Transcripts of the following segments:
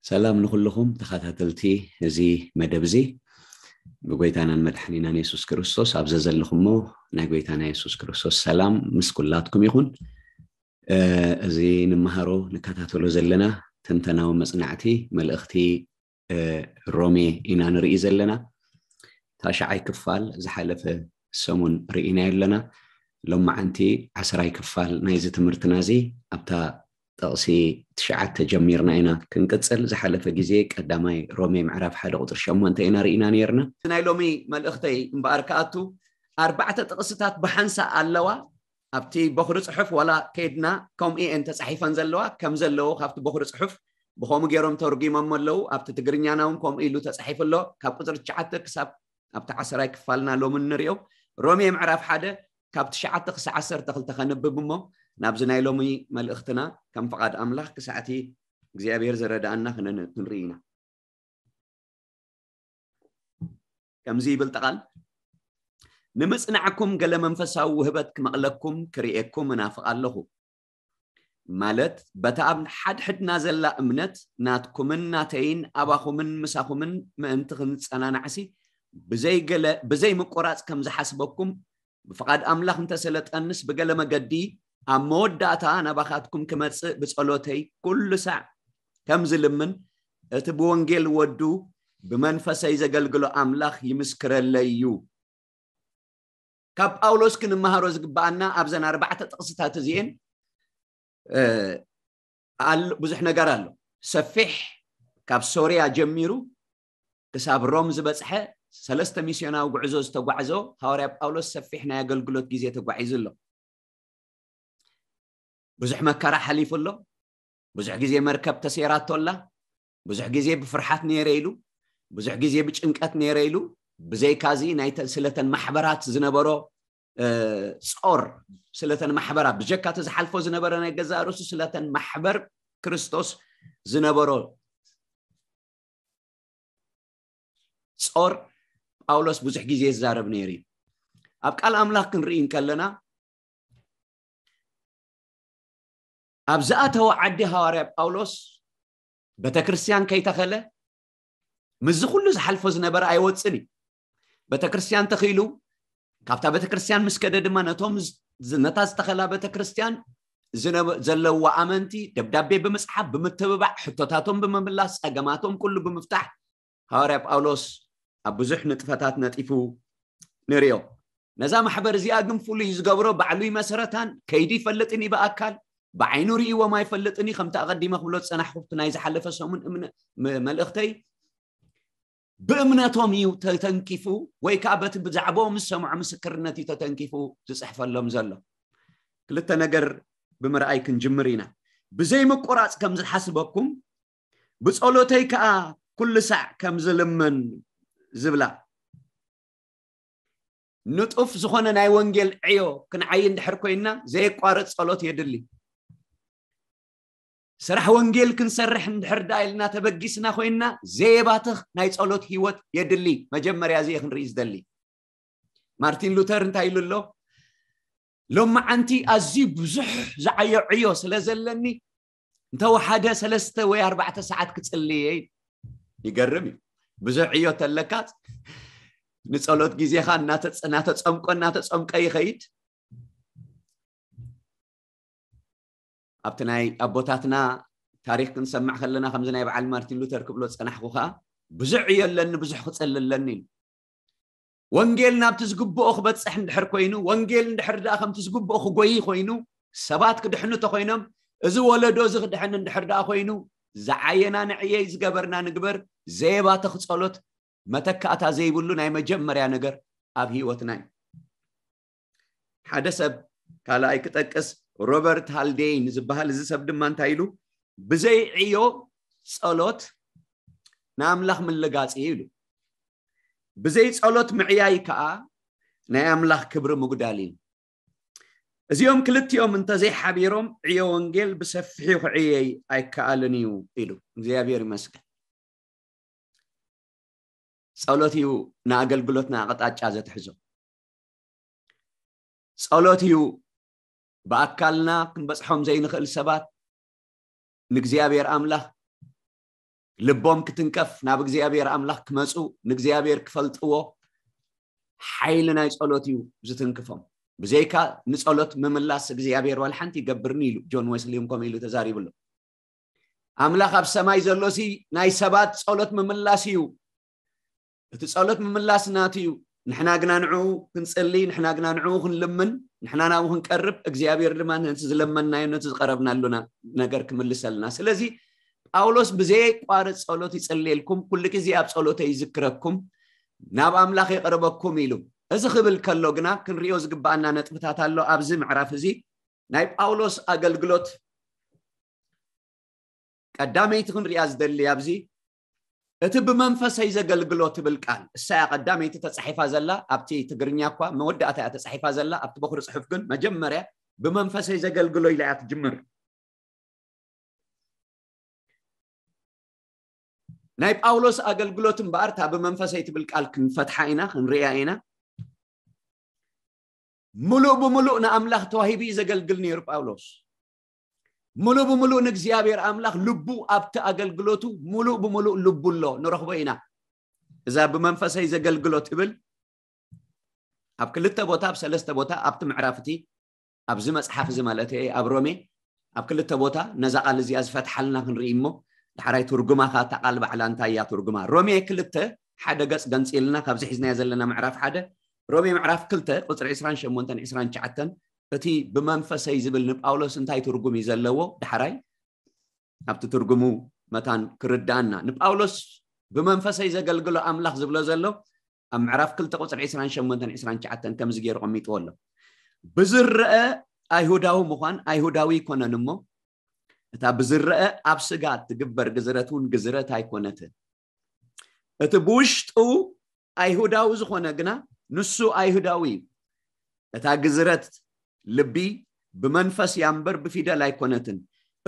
ሰላም ንኹልኹም ተኸታተልቲ እዚ መደብ እዚ። ብጎይታናን መድሓኒናን የሱስ ክርስቶስ ኣብ ዘዘለኹሞ ናይ ጎይታና የሱስ ክርስቶስ ሰላም ምስ ኩላትኩም ይኹን። እዚ ንመሃሮ ንከታተሎ ዘለና ትንተናዊ መጽናዕቲ መልእኽቲ ሮሜ ኢና ንርኢ ዘለና። ታሽዓይ ክፋል ዝሓለፈ ሰሙን ርኢና ኣለና። ሎማዓንቲ ዓስራይ ክፋል ናይዚ ትምህርትና እዚ ኣብታ ጥቕሲ ትሽዓተ ጀሚርና ኢና ክንቅጽል። ዝሓለፈ ግዜ ቀዳማይ ሮሜ ምዕራፍ ሓደ ቁጽሪ ሸሞንተ ኢና ርኢና ነርና። ናይ ሎሚ መልእኽተይ እምበኣር ክኣቱ ኣርባዕተ ጥቕስታት ብሓንሳ ኣለዋ። ኣብቲ በኹሪ ጽሑፍ ዋላ ከይድና ከምኡ እየን ተጻሒፈን ዘለዋ፣ ከም ዘለዉ ካብቲ በኹሪ ጽሑፍ ብኸምኡ ገይሮም ተርጉሞም ኣለዉ። ኣብቲ ትግርኛና እውን ከምኡ ኢሉ ተጻሒፉ ኣሎ። ካብ ቁጽሪ ትሽዓተ ክሳብ ኣብቲ ዓስራይ ክፋልና ሎሚ ንሪኦ። ሮሜ ምዕራፍ ሓደ ካብ ትሽዓተ ክሳብ ዓሰርተ ክልተ ከንብብ እሞ ናብዚ ናይ ሎሚ መልእኽትና ከም ፍቓድ ኣምላኽ ክሳዕቲ እግዚኣብሔር ዝረዳኣና ክነን-፣ ክንርኢ ኢና። ከምዚ ይብል ቃል፣ ንምጽናዕኩም ገለ መንፈሳዊ ውህበት ክመቕለኩም ክርእየኩም እናፍቕ ኣለኹ። ማለት በታ ኣብ ሓድሕድና ዘላ እምነት ናትኩምን ናተይን ኣባኹምን ምሳኹምን ምእንቲ ክንጸናናዕሲ ብዘይገለ፣ ብዘይ ምቁራጽ ከም ዝሓስበኩም ብፍቓድ ኣምላኽ እንተሰለጠንስ ብገለ መገዲ ኣብ መወዳእታ ናባኻትኩም ክመጽእ ብጸሎተይ ኩሉ ሳዕ ከም ዝልምን እቲ ብወንጌል ወዱ ብመንፈሰይ ዘገልግሎ ኣምላኽ ይምስክረለይ እዩ። ካብ ጳውሎስ ክንመሃሮ ዝግባኣና ኣብዘን ኣርባዕተ ጥቕስታት እዚኤን፣ እ፣ ኣል-፣ ብዙሕ ነገር ኣሎ። ሰፊሕ፣ ካብ ሶርያ ጀሚሩ ክሳብ ሮም ዝበጽሐ ሰለስተ ሚስዮናዊ ጉዕዞ ዝተጓዕዞ ሃዋርያ ጳውሎስ ሰፊሕ ናይ ኣገልግሎት ግዜ ተጓዒዙ ኣሎ። ብዙሕ መከራ ሓሊፉ ኣሎ። ብዙሕ ግዜ መርከብ ተሴራቶ ኣላ። ብዙሕ ግዜ ብፍርሓት ነይረ ኢሉ፣ ብዙሕ ግዜ ብጭንቀት ነይረ ኢሉ። ብዘይካዚ ናይተ-፣ ስለተን ማሕበራት ዝነበሮ፣ እ፣ ጾር፣ ስለተን ማሕበራት፣ ብጀካ እቲ ዝሓልፎ ዝነበረ ናይ ገዛእ ርእሱ ስለተን ማሕበር ክርስቶስ ዝነበሮ ጾር ጳውሎስ ብዙሕ ግዜ ይዛረብ ነይሩ እዩ። ኣብ ቃል ኣምላኽ ክንርኢ እንከለና፣ ኣብ ዝኣተወ ዓዲ ሃዋርያ ጳውሎስ ቤተክርስትያን ከይተኸለ፣ ምስዚ ኩሉ ዝሓልፎ ዝነበረ ኣይወጽን እዩ። ቤተክርስትያን ተኺሉ፣ ካብታ ቤተክርስትያን ምስ ከደ ድማ ነቶም ዝ-፣ ዝ-፣ ነታ ዝተኸላ ቤተክርስትያን ዝነበ-፣ ዘለዋ ኣመንቲ ደብዳቤ ብምጽሓፍ፣ ብምትብባዕ፣ ሕቶታቶም ብምምላስ፣ ጸገማቶም ኩሉ ብምፍታሕ፣ ሃዋርያ ጳውሎስ ኣብ ብዙሕ ንጥፈታት ነጢፉ ንርእዮ። ነዛ ማሕበር እዚኣ ግን ፍሉይ ዝገብሮ ባዕሉ ይመሰረታን ከይዱ ይፈልጥን እዩ ብኣካል፣ ብዓይኑ ርእይዎም ኣይፈልጥን እዩ። ከምቲ ኣቐዲመ ክብሎ ዝጸናሕኩ ኣብቲ ናይ ዝሓለፈ ሰሙን እምነ-፣ ም-፣ መልእኽተይ ብእምነቶም እዩ ተተንኪፉ ወይ ከዓ በቲ ብዛዕባኦም ዝሰምዖ ምስክርነት እዩ ተተንኪፉ ዝጽሕፈሎም ዘሎ። ክልተ ነገር ብምርኣይ ክንጅምር ኢና። ብዘይ ምቁራጽ ከም ዝሓስበኩም ብጸሎተይ ከኣ ኩሉ ሳዕ ከም ዝልምን ዝብላ ንጡፍ ዝኾነ ናይ ወንጌል ዕዮ ክንዓይ እንድሕር ኮይንና ዘየቋርጽ ጸሎት የድሊ። ስራሕ ወንጌል ክንሰርሕ እንድሕር ደኣ ኢልና ተበጊስና ኮይንና ዘየባትኽ ናይ ጸሎት ህይወት የድሊ። መጀመርያ እዚ እየ ክንርኢ ዝደሊ። ማርቲን ሉተር እንታይ ኢሉ ኣሎ? ሎማዓንቲ ኣዝዩ ብዙሕ ዝዓዮ ዕዮ ስለ ዘለኒ እንተወሓደ ሰለስተ ወይ ኣርባዕተ ሰዓት ክጽልየ። ይገርም እዩ። ብዙሕ ዕዮ ተለካ ንጸሎት ግዜኻ እናተጸ-፣ እናተጸምቆ እናተጸምቀ ይኸይድ። ኣብቲ ናይ ኣቦታትና ታሪኽ ክንሰምዕ ከለና ከምዚ ናይ በዓል ማርቲን ሉተር ክብሎ ዝጸናሕኩ ከኣ ብዙሕ ዕዮ ኣለኒ፣ ብዙሕ ክጽሊ ኣለኒ ኢሉ። ወንጌል ናብቲ ዝግብኦ ክበጽሕ እንድሕር ኮይኑ፣ ወንጌል እንድሕር ደኣ ከምቲ ዝግብኦ ክጎይ ኮይኑ፣ ሰባት ክድሕኑ ተኮይኖም፣ እዚ ወለዶ እዚ ክድሕን እንድሕር ደኣ ኮይኑ፣ ዝዓየና ንዕየይ፣ ዝገበርና ንግበር፣ ዘየባትኽ ጸሎት መተካእታ ዘይብሉ ናይ መጀመርያ ነገር ኣብ ህይወትና እዩ። ሓደ ሰብ ካልኣይ ክጠቅስ ሮበርት ሃልዴይን ዝበሃል፣ እዚ ሰብ ድማ እንታይ ኢሉ? ብዘይ ዕዮ ጸሎት ንኣምላኽ ምልጋጽ እዩ ኢሉ። ብዘይ ጸሎት ምዕያይ ከኣ ናይ ኣምላኽ ክብሪ ምጉዳል እዩ። እዚኦም ክልቲኦም እንተዘይሓቢሮም ዕዮ ወንጌል ብሰፊሑ ክዕየይ ኣይከኣልን እዩ ኢሉ። እግዚኣብሔር ይመስገን። ጸሎት እዩ ንኣገልግሎትና ኣቕጣጫ ዘትሕዞ። ጸሎት እዩ ብኣካልና ክንበጽሖም ዘይንኽእል ሰባት ንእግዚኣብሔር ኣምላኽ ልቦም ክትንከፍ ናብ እግዚኣብሔር ኣምላኽ ክመፁ ንእግዚኣብሔር ክፈልጥዎ ሓይሊ ናይ ጸሎት እዩ ዝትንክፎም። ብዘይካ ንጸሎት ምምላስ እግዚኣብሔር ዋላ ሓንቲ ይገብርኒ ኢሉ ጆን ዌስሊ እውን ከምኡ ኢሉ ተዛሪቡ ኣሎ። ኣምላኽ ኣብ ሰማይ ዘሎሲ ናይ ሰባት ጸሎት ምምላስ እዩ። እቲ ጸሎት ምምላስ ናቱ እዩ። ንሕና ግና ንዕኡ ክንጽሊ፣ ንሕና ግና ንዕኡ ክንልምን፣ ንሕና ናብኡ ክንቀርብ እግዚኣብሔር ድማ ነቲ ዝለመንናዮ ነቲ ዝቀረብናሉ ነገር ክምልሰልና። ስለዚ ጳውሎስ ብዘየቋርጽ ጸሎት ይጽልየልኩም፣ ኩሉ ግዜ ኣብ ጸሎተ ይዝክረኩም፣ ናብ ኣምላኽ የቕርበኩም ኢሉ። እዚ ክብል ከሎ ግና ክንሪኦ ዝግባኣና ነጥብታት ኣሎ ኣብዚ ምዕራፍ እዚ። ናይ ጳውሎስ ኣገልግሎት ቀዳመይቲ ክንሪኣ ዝደሊ ኣብዚ እቲ ብመንፈሰይ ዘገልግሎ ትብል ቃል እሳያ ቀዳመይቲ ተጻሒፋ ዘላ ኣብቲ ትግርኛ እኳ መወዳእታ እያ ተጻሒፋ ዘላ ኣብቲ በኩሪ ጽሑፍ ግን መጀመርያ ብመንፈሰይ ዘገልግሎ ኢላ እያ ትጅምር። ናይ ጳውሎስ ኣገልግሎት እምበኣር እታ ብመንፈሰይ ትብል ቃል ክንፈትሓ ኢና ክንሪያ ኢና። ምሉእ ብምሉእ ንኣምላኽ ተዋሂቡ እዩ ዘገልግል ነይሩ ጳውሎስ። ምሉእ ብምሉእ ንእግዚኣብሔር ኣምላኽ ልቡ ኣብቲ ኣገልግሎቱ ምሉእ ብምሉእ ልቡ ኣሎ ንረኽቦ ኢና። እዛ ብመንፈሰይ ዘገልግሎ ትብል ኣብ ክልተ ቦታ ኣብ ሰለስተ ቦታ ኣብቲ ምዕራፍ እቲ ኣብዚ መጽሓፍ እዚ ማለት እየ ኣብ ሮሜ ኣብ ክልተ ቦታ ነዛ ቃል እዚኣ ዝፈትሓልና ክንርኢ እሞ ዳሕራይ ትርጉማ ከ እታ ቃል ባዕላ እንታይ እያ ትርጉማ? ሮሜ ክልተ ሓደ ገጽ ገንጺልና ካብዚ ሒዝናዮ ዘለና ምዕራፍ ሓደ ሮሜ ምዕራፍ ክልተ ቁጽሪ ዕስራን ሸሞንተን ዕስራን ትሽዓተን እቲ ብመንፈሰይ ዝብል ንጳውሎስ እንታይ ትርጉም እዩ ዘለዎ? ዳሕራይ ኣብቲ ትርጉሙ መታን ክርዳኣና ንጳውሎስ ብመንፈሰይ ዘገልግሎ ኣምላኽ ዝብሎ ዘሎ ኣብ ምዕራፍ ክልተ ቁፅሪ ዕስራን ሸሞንተን ዕስራን ትሽዓተን ከምዚ ገይሩ ቀሚጥዎ ኣሎ። ብዝረአ ኣይሁዳዊ ምዃን ኣይሁዳዊ ኣይኮነን እሞ እታ ብዝረአ ኣብ ስጋ እትግበር ግዝረት እውን ግዝረት ኣይኮነትን። እቲ ብውሽጡ ኣይሁዳዊ ዝኾነ ግና ንሱ ኣይሁዳዊ እዩ። እታ ግዝረት ልቢ ብመንፈስ እያ እምበር ብፊደል ኣይኮነትን።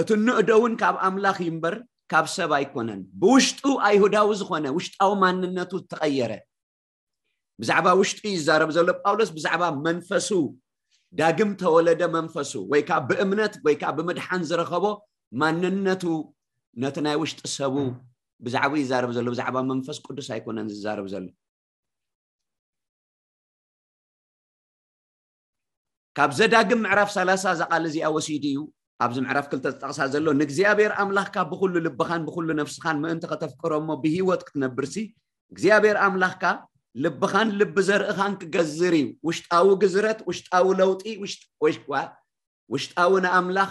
እቲ እንእዶ እውን ካብ ኣምላኽ እዩ እምበር ካብ ሰብ ኣይኮነን። ብውሽጡ ኣይሁዳዊ ዝኾነ ውሽጣዊ ማንነቱ እተቐየረ ብዛዕባ ውሽጡ ይዛረብ ዘሎ ጳውሎስ ብዛዕባ መንፈሱ ዳግም ተወለደ መንፈሱ ወይ ከዓ ብእምነት ወይ ከዓ ብምድሓን ዝረኸቦ ማንነቱ ነቲ ናይ ውሽጢ ሰቡ ብዛዕባ ይዛረብ ዘሎ ብዛዕባ መንፈስ ቅዱስ ኣይኮነን ዝዛረብ ዘሎ። ካብ ዘዳግም ምዕራፍ ሰላሳ እዛ ቃል እዚኣ ወሲዱ እዩ ኣብዚ ምዕራፍ ክልተ ዝጠቕሳ ዘሎ ንእግዚኣብሔር ኣምላኽካ ብኩሉ ልብኻን ብኩሉ ነፍስኻን ምእንቲ ከተፍቅሮ እሞ ብህይወት ክትነብርሲ እግዚኣብሔር ኣምላኽካ ልብኻን ልቢ ዘርእኻን ክገዝር እዩ። ውሽጣዊ ግዝረት ውሽጣዊ ለውጢ ውሽጣዊ ንኣምላኽ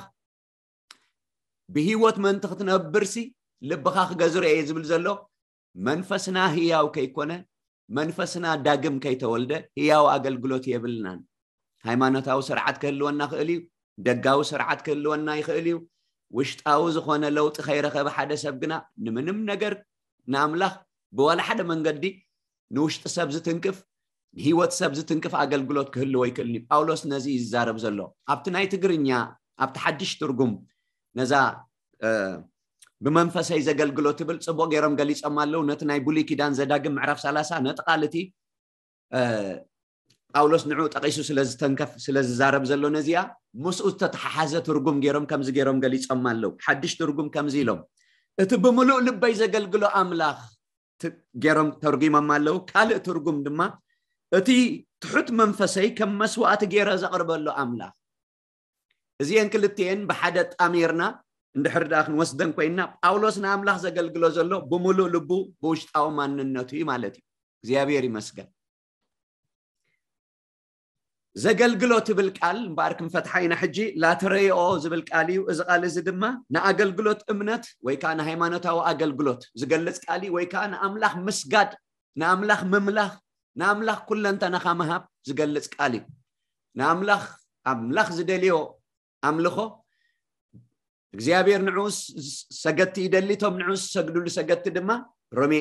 ብህይወት ምእንቲ ክትነብርሲ ልብኻ ክገዝሮ እየ ዝብል ዘሎ መንፈስና ህያው ከይኮነ መንፈስና ዳግም ከይተወልደ ህያው ኣገልግሎት የብልናን። ሃይማኖታዊ ስርዓት ክህልወና ክእል እዩ። ደጋዊ ስርዓት ክህልወና ይኽእል እዩ። ውሽጣዊ ዝኾነ ለውጢ ከይረኸበ ሓደ ሰብ ግና ንምንም ነገር ንኣምላኽ ብዋላ ሓደ መንገዲ ንውሽጢ ሰብ ዝትንክፍ ንህይወት ሰብ ዝትንክፍ ኣገልግሎት ክህልዎ ይክእልኒ። ጳውሎስ ነዚ እዩ ዝዛረብ ዘሎ። ኣብቲ ናይ ትግርኛ ኣብቲ ሓድሽ ትርጉም ነዛ ብመንፈሰይ ዘገልግሎ ትብል ፅቡቅ ገይሮም ገሊፆም ኣለዉ። ነቲ ናይ ብሉይ ኪዳን ዘዳግም ምዕራፍ ሰላሳ ነቲ ቃል እቲ ጳውሎስ ንዑ ጠቂሱ ስለዝተንከፍ ስለዝዛረብ ዘሎ ነዚኣ ምስኡ ዝተተሓሓዘ ትርጉም ገይሮም ከምዚ ገይሮም ገሊፆም ኣለዉ። ሓድሽ ትርጉም ከምዚ ኢሎም እቲ ብምሉእ ልበይ ዘገልግሎ ኣምላኽ ገይሮም ተርጉሞም ኣለዉ። ካልእ ትርጉም ድማ እቲ ትሑት መንፈሰይ ከም መስዋእቲ ገይረ ዘቕርበሉ ኣምላኽ። እዚአን ክልቲኤን ብሓደ ጣሚርና እንድሕር ደኣ ክንወስደን ኮይንና ጳውሎስ ንኣምላኽ ዘገልግሎ ዘሎ ብምሉእ ልቡ ብውሽጣዊ ማንነቱ እዩ ማለት እዩ። እግዚኣብሔር ይመስገን። ዘገልግሎ ትብል ቃል እምበኣር ክንፈትሓ ኢና። ሕጂ ላተረዮ ዝብል ቃል እዩ። እዚ ቃል እዚ ድማ ንኣገልግሎት እምነት ወይ ከዓ ንሃይማኖታዊ ኣገልግሎት ዝገልፅ ቃል እዩ። ወይ ከዓ ንኣምላኽ ምስጋድ፣ ንኣምላኽ ምምላኽ፣ ንኣምላኽ ኩለንተናኻ ምሃብ ዝገልፅ ቃል እዩ። ንኣምላኽ ኣምላኽ ዝደልዮ ኣምልኾ እግዚኣብሔር ንዑ ሰገድቲ ይደሊ። እቶም ንዑ ዝሰግዱሉ ሰገድቲ ድማ ሮሜ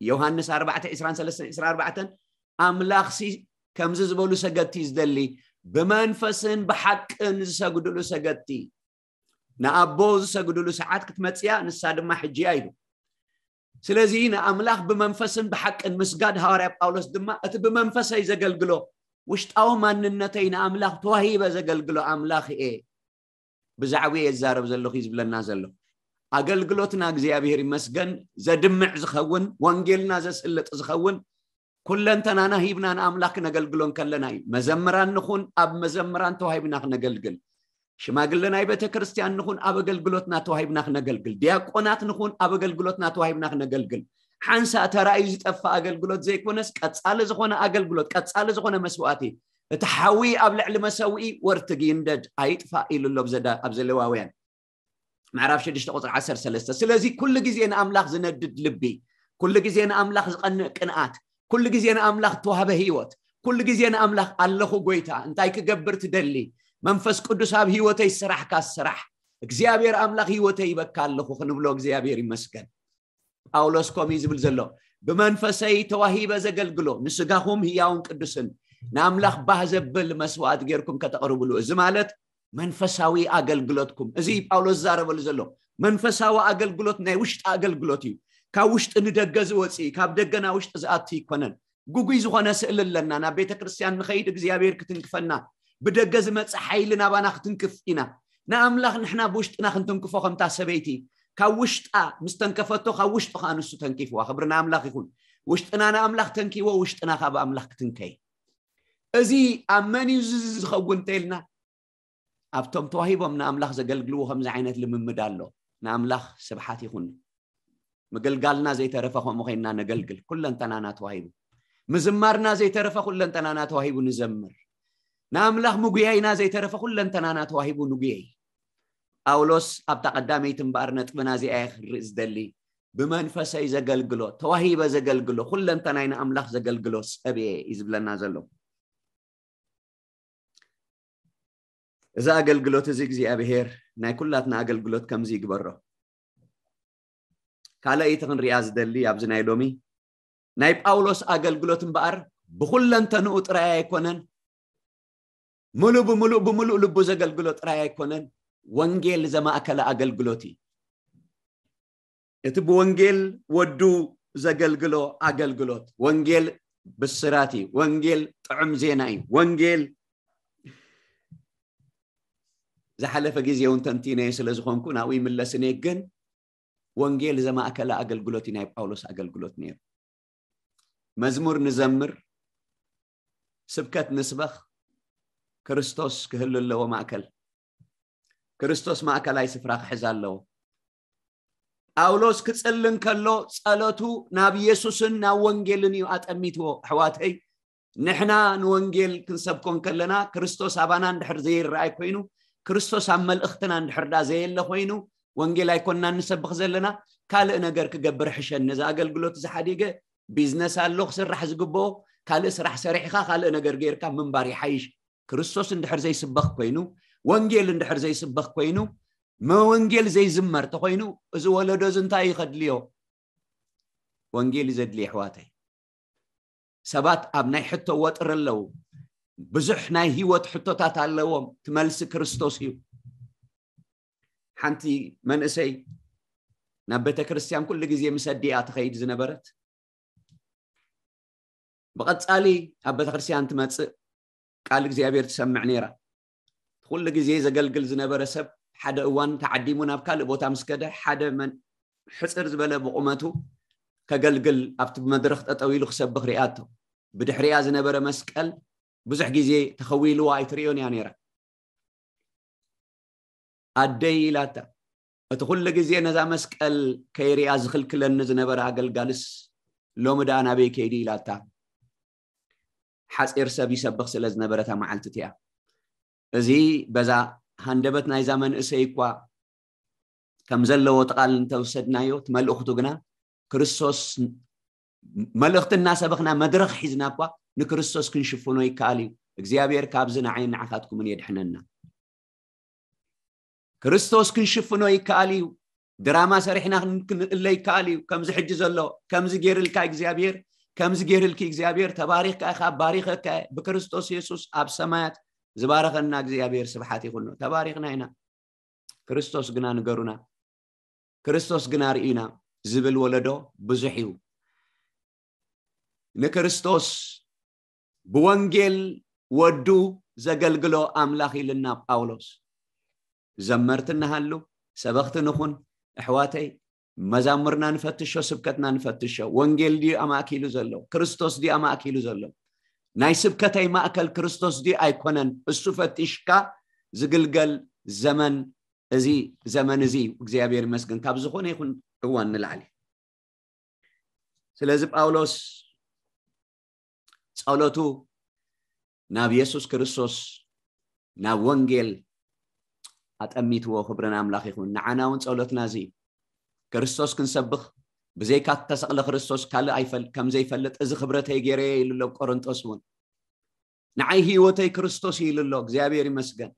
ዮሃንስ ኣርባዕተ ዕስራን ሰለስተን ዕስራን ኣርባዕተን ኣምላኽሲ ከምዚ ዝበሉ ሰገድቲ እዩ ዝደሊ፣ ብመንፈስን ብሓቅን ዝሰግዱሉ ሰገድቲ። ንኣቦ ዝሰግዱሉ ሰዓት ክትመፅያ ንሳ ድማ ሕጂ እያ ኢሉ። ስለዚ ንኣምላኽ ብመንፈስን ብሓቅን ምስጋድ ሃዋርያ ጳውሎስ ድማ እቲ ብመንፈሰይ ዘገልግሎ ውሽጣዊ ማንነተይ ንኣምላኽ ተዋሂበ ዘገልግሎ ኣምላኽ እየ። ብዛዕባ እየ ዝዛረብ ዘለኹ እዩ ዝብለና ዘሎ። ኣገልግሎትና እግዚኣብሔር ይመስገን ዘድምዕ ዝኸውን፣ ወንጌልና ዘስልጥ ዝኸውን፣ ኩለንተናና ሂብና ንኣምላኽ ክነገልግሎ እንከለና እዩ። መዘምራን ንኹን፣ ኣብ መዘምራን ተዋሂብና ክነገልግል። ሽማግለ ናይ ቤተ ክርስቲያን ንኹን፣ ኣብ ኣገልግሎትና ተዋሂብና ክነገልግል። ዲያቆናት ንኹን፣ ኣብ ኣገልግሎትና ተዋሂብና ክነገልግል። ሓንሳእ ተራእዩ ዝጠፍእ ኣገልግሎት ዘይኮነስ፣ ቀጻሊ ዝኾነ ኣገልግሎት፣ ቀጻሊ ዝኾነ መስዋእቲ፣ እቲ ሓዊ ኣብ ልዕሊ መሰውኢ ወርትግ ይንደድ ኣይጥፋእ ኢሉ ኣሎ ኣብ ዘዳ-፣ ኣብ ዘሌዋውያን ምዕራፍ ሽዱሽተ ቁጽሪ ዓሰርተ ሰለስተ። ስለዚ ኩሉ ግዜ ንኣምላኽ ዝነድድ ልቢ፣ ኩሉ ግዜ ንኣምላኽ ዝቐንእ ቅንኣት፣ ኩሉ ግዜ ንኣምላኽ ተዋህበ ህይወት፣ ኩሉ ግዜ ንኣምላኽ ኣለኹ ጎይታ፣ እንታይ ክገብር ትደሊ? መንፈስ ቅዱስ ኣብ ህይወተይ ስራሕካ ስራሕ፣ እግዚኣብሔር ኣምላኽ ህይወተይ ይበካ ኣለኹ ክንብሎ እግዚኣብሔር ይመስገን። ጳውሎስ ከምኡ እዩ ዝብል ዘሎ፣ ብመንፈሰይ ተዋሂበ ዘገልግሎ ንስጋኹም ህያውን ቅዱስን ንኣምላኽ ባህ ዘብል መስዋዕት ጌርኩም ከተቕርብሉ። እዚ ማለት መንፈሳዊ ኣገልግሎትኩም፣ እዚ ጳውሎስ ዝዛረበሉ ዘሎ መንፈሳዊ ኣገልግሎት ናይ ውሽጢ ኣገልግሎት እዩ። ካብ ውሽጢ ንደገ ዝወፅእ፣ ካብ ደገ ናብ ውሽጢ ዝኣቱ ይኮነን። ግጉይ ዝኾነ ስእሊ ኣለና። ናብ ቤተ ክርስቲያን ንኸይድ እግዚኣብሔር ክትንክፈና፣ ብደገ ዝመፅእ ሓይሊ ናባና ክትንክፍ ኢና። ንኣምላኽ ንሕና ብውሽጥና ክንትንክፎ ከምታ ሰበይቲ ካብ ውሽጣ ምስ ተንከፈቶ፣ ካብ ውሽጡ ከዓ ንሱ ተንኪፍዋ። ክብሪ ንኣምላኽ ይኹን። ውሽጥና ንኣምላኽ ተንኪዎ፣ ውሽጥና ካብ ኣምላኽ ክትንከይ። እዚ ኣብ መን እዩ እዚ ዝኸውን እንተኢልና፣ ኣብቶም ተዋሂቦም ንኣምላኽ ዘገልግልዎ ከምዚ ዓይነት ልምምድ ኣሎ። ንኣምላኽ ስብሓት ይኹን። ምግልጋልና ዘይተረፈ ከምኡ ኮይንና ነገልግል። ኩለንተናና ተዋሂቡ። ምዝማርና ዘይተረፈ ኩለንተናና ተዋሂቡ ንዘምር። ንኣምላኽ ምጉያይና ዘይተረፈ ኩለንተናና ተዋሂቡ ንጉየይ። ጳውሎስ ኣብታ ቀዳመይቲ እምበኣር ነጥብና እዚኣ እየ ክርኢ ዝደሊ። ብመንፈሰይ ዘገልግሎ፣ ተዋሂበ ዘገልግሎ፣ ኩለንተናይ ንኣምላኽ ዘገልግሎ ሰብ እየ እዩ ዝብለና ዘሎ። እዚ ኣገልግሎት እዚ እግዚኣብሔር ናይ ኩላትና ኣገልግሎት ከምዚ ይግበሮ። ካልኣይቲ ክንሪኣ ዝደሊ ኣብዚ ናይ ሎሚ ናይ ጳውሎስ ኣገልግሎት እምበኣር ብኩለንተንኡ ጥራይ ኣይኮነን፣ ምሉእ ብምሉእ ብምሉእ ልቡ ዘገልግሎ ጥራይ ኣይኮነን፣ ወንጌል ዘማእከለ ኣገልግሎት እዩ። እቲ ብወንጌል ወዱ ዘገልግሎ ኣገልግሎት፣ ወንጌል ብስራት እዩ። ወንጌል ጥዑም ዜና እዩ። ወንጌል ዝሓለፈ ግዜ እውን ተንቲነዮ ስለ ዝኾንኩ ናብኡ ይምለስን እየ። ግን ወንጌል ዘማእከለ ኣገልግሎት እዩ ናይ ጳውሎስ ኣገልግሎት ነይሩ። መዝሙር ንዘምር፣ ስብከት ንስበኽ፣ ክርስቶስ ክህሉ ኣለዎ ማእከል። ክርስቶስ ማእከላይ ስፍራ ክሕዝ ኣለዎ። ጳውሎስ ክጽሊ እንከሎ ጸሎቱ ናብ ኢየሱስን ናብ ወንጌልን እዩ ኣጠሚትዎ። ኣሕዋተይ፣ ንሕና ንወንጌል ክንሰብኮ እንከለና ክርስቶስ ኣባና እንድሕር ዘይረኣይ ኮይኑ፣ ክርስቶስ ኣብ መልእኽትና እንድሕር ዳ ዘየለ ኮይኑ፣ ወንጌል ኣይኮንና እንሰብኽ ዘለና። ካልእ ነገር ክገብር ሕሸኒ። ነዚ ኣገልግሎት እዚ ሓዲገ ቢዝነስ ኣሎ ክስራሕ ዝግብኦ፣ ካልእ ስራሕ ሰሪሕኻ ካልእ ነገር ጌርካ ምንባር ይሓይሽ። ክርስቶስ እንድሕር ዘይስበኽ ኮይኑ፣ ወንጌል እንድሕር ዘይስበኽ ኮይኑ፣ መወንጌል ዘይዝመር ተኾይኑ፣ እዚ ወለዶ እዚ እንታይ እዩ ከድልዮ? ወንጌል እዩ ዘድልዮ ኣሕዋተይ። ሰባት ኣብ ናይ ሕቶ ወጥሪ ኣለዉ። ብዙሕ ናይ ህይወት ሕቶታት ኣለዎም። እቲ መልሲ ክርስቶስ እዩ። ሓንቲ መንእሰይ ናብ ቤተ ክርስቲያን ኩሉ ግዜ ምስ ኣዲኣ ትኸይድ ዝነበረት፣ ብቐጻሊ ኣብ ቤተ ክርስቲያን ትመጽእ፣ ቃል እግዚኣብሔር ትሰምዕ ነይራ። ኩሉ ግዜ ዘገልግል ዝነበረ ሰብ ሓደ እዋን ተዓዲሙ ናብ ካልእ ቦታ ምስ ከደ፣ ሓደ መን-፣ ሕጽር ዝበለ ብቑመቱ ከገልግል ኣብቲ መድረኽ ጠጠው ኢሉ ክሰብኽ ሪኣቶ። ብድሕሪኣ ዝነበረ መስቀል ብዙሕ ግዜ ተኸዊልዋ ኣይትርእዮን እያ ነይራ። ኣደይ ኢላታ። እቲ ኩሉ ግዜ ነዛ መስቀል ከይሪኣ ዝኽልክለኒ ዝነበረ ኣገልጋልስ ሎሚ ደኣ ናበይ ከይዱ ኢላታ። ሓጺር ሰብ ይሰብኽ ስለ ዝነበረ እታ መዓልቲ እቲኣ። እዚ በዛ ሃንደበት ናይዛ መንእሰይ እኳ ከም ዘለዎ እቲ ቃል እንተወሰድናዮ፣ እቲ መልእኽቱ ግና ክርስቶስ መልእኽቲ እናሰበኽና መድረኽ ሒዝና እኳ ንክርስቶስ ክንሽፍኖ ይከኣል እዩ። እግዚኣብሔር ካብዚ ንዓይን ንዓኻትኩምን የድሕነና። ክርስቶስ ክንሽፍኖ ይከኣል እዩ። ድራማ ሰሪሕና ክን-፣ ክንእለ ይከኣል እዩ። ከምዚ ሕጂ ዘሎ፣ ከምዚ ገይርልካ እግዚኣብሔር፣ ከምዚ ገይርልኪ እግዚኣብሔር፣ ተባሪኽካ ኢኻ፣ ባሪኸካ እየ። ብክርስቶስ የሱስ ኣብ ሰማያት ዝባረኸና እግዚኣብሔር ስብሓት ይኹኖ። ተባሪኽና ኢና። ክርስቶስ ግና ንገሩና፣ ክርስቶስ ግና ርእዩና ዝብል ወለዶ ብዙሕ እዩ። ንክርስቶስ ብወንጌል ወዱ ዘገልግሎ ኣምላኽ ኢልና ጳውሎስ። ዘመርቲ እንሃሉ፣ ሰበኽቲ ንኹን፣ ኣሕዋተይ፣ መዛሙርና ንፈትሾ፣ ስብከትና ንፈትሾ። ወንጌል ድዩ ኣማእኪሉ ዘሎ? ክርስቶስ ድዩ ኣማእኪሉ ዘሎ? ናይ ስብከተይ ማእከል ክርስቶስ ድዩ ኣይኮነን? እሱ ፈቲሽካ ዝግልገል ዘመን፣ እዚ ዘመን እዚ እዩ። እግዚኣብሔር ይመስገን፣ ካብ ዝኾነ ይኹን እዋን ንላዕሊ። ስለዚ ጳውሎስ ጸሎቱ ናብ የሱስ ክርስቶስ፣ ናብ ወንጌል ኣጠሚትዎ። ክብሪ ንኣምላኽ ይኹን። ንዓና እውን ጸሎትና እዚ እዩ። ክርስቶስ ክንሰብኽ፣ ብዘይካ እተሰቕለ ክርስቶስ ካልእ ኣይፈል-፣ ከም ዘይፈልጥ፣ እዚ ክብረተይ ገይረየ ኢሉ ኣሎ ኣብ ቆሮንጦስ እውን። ንዓይ ህይወተይ ክርስቶስ እዩ ኢሉ ኣሎ። እግዚኣብሔር ይመስገን።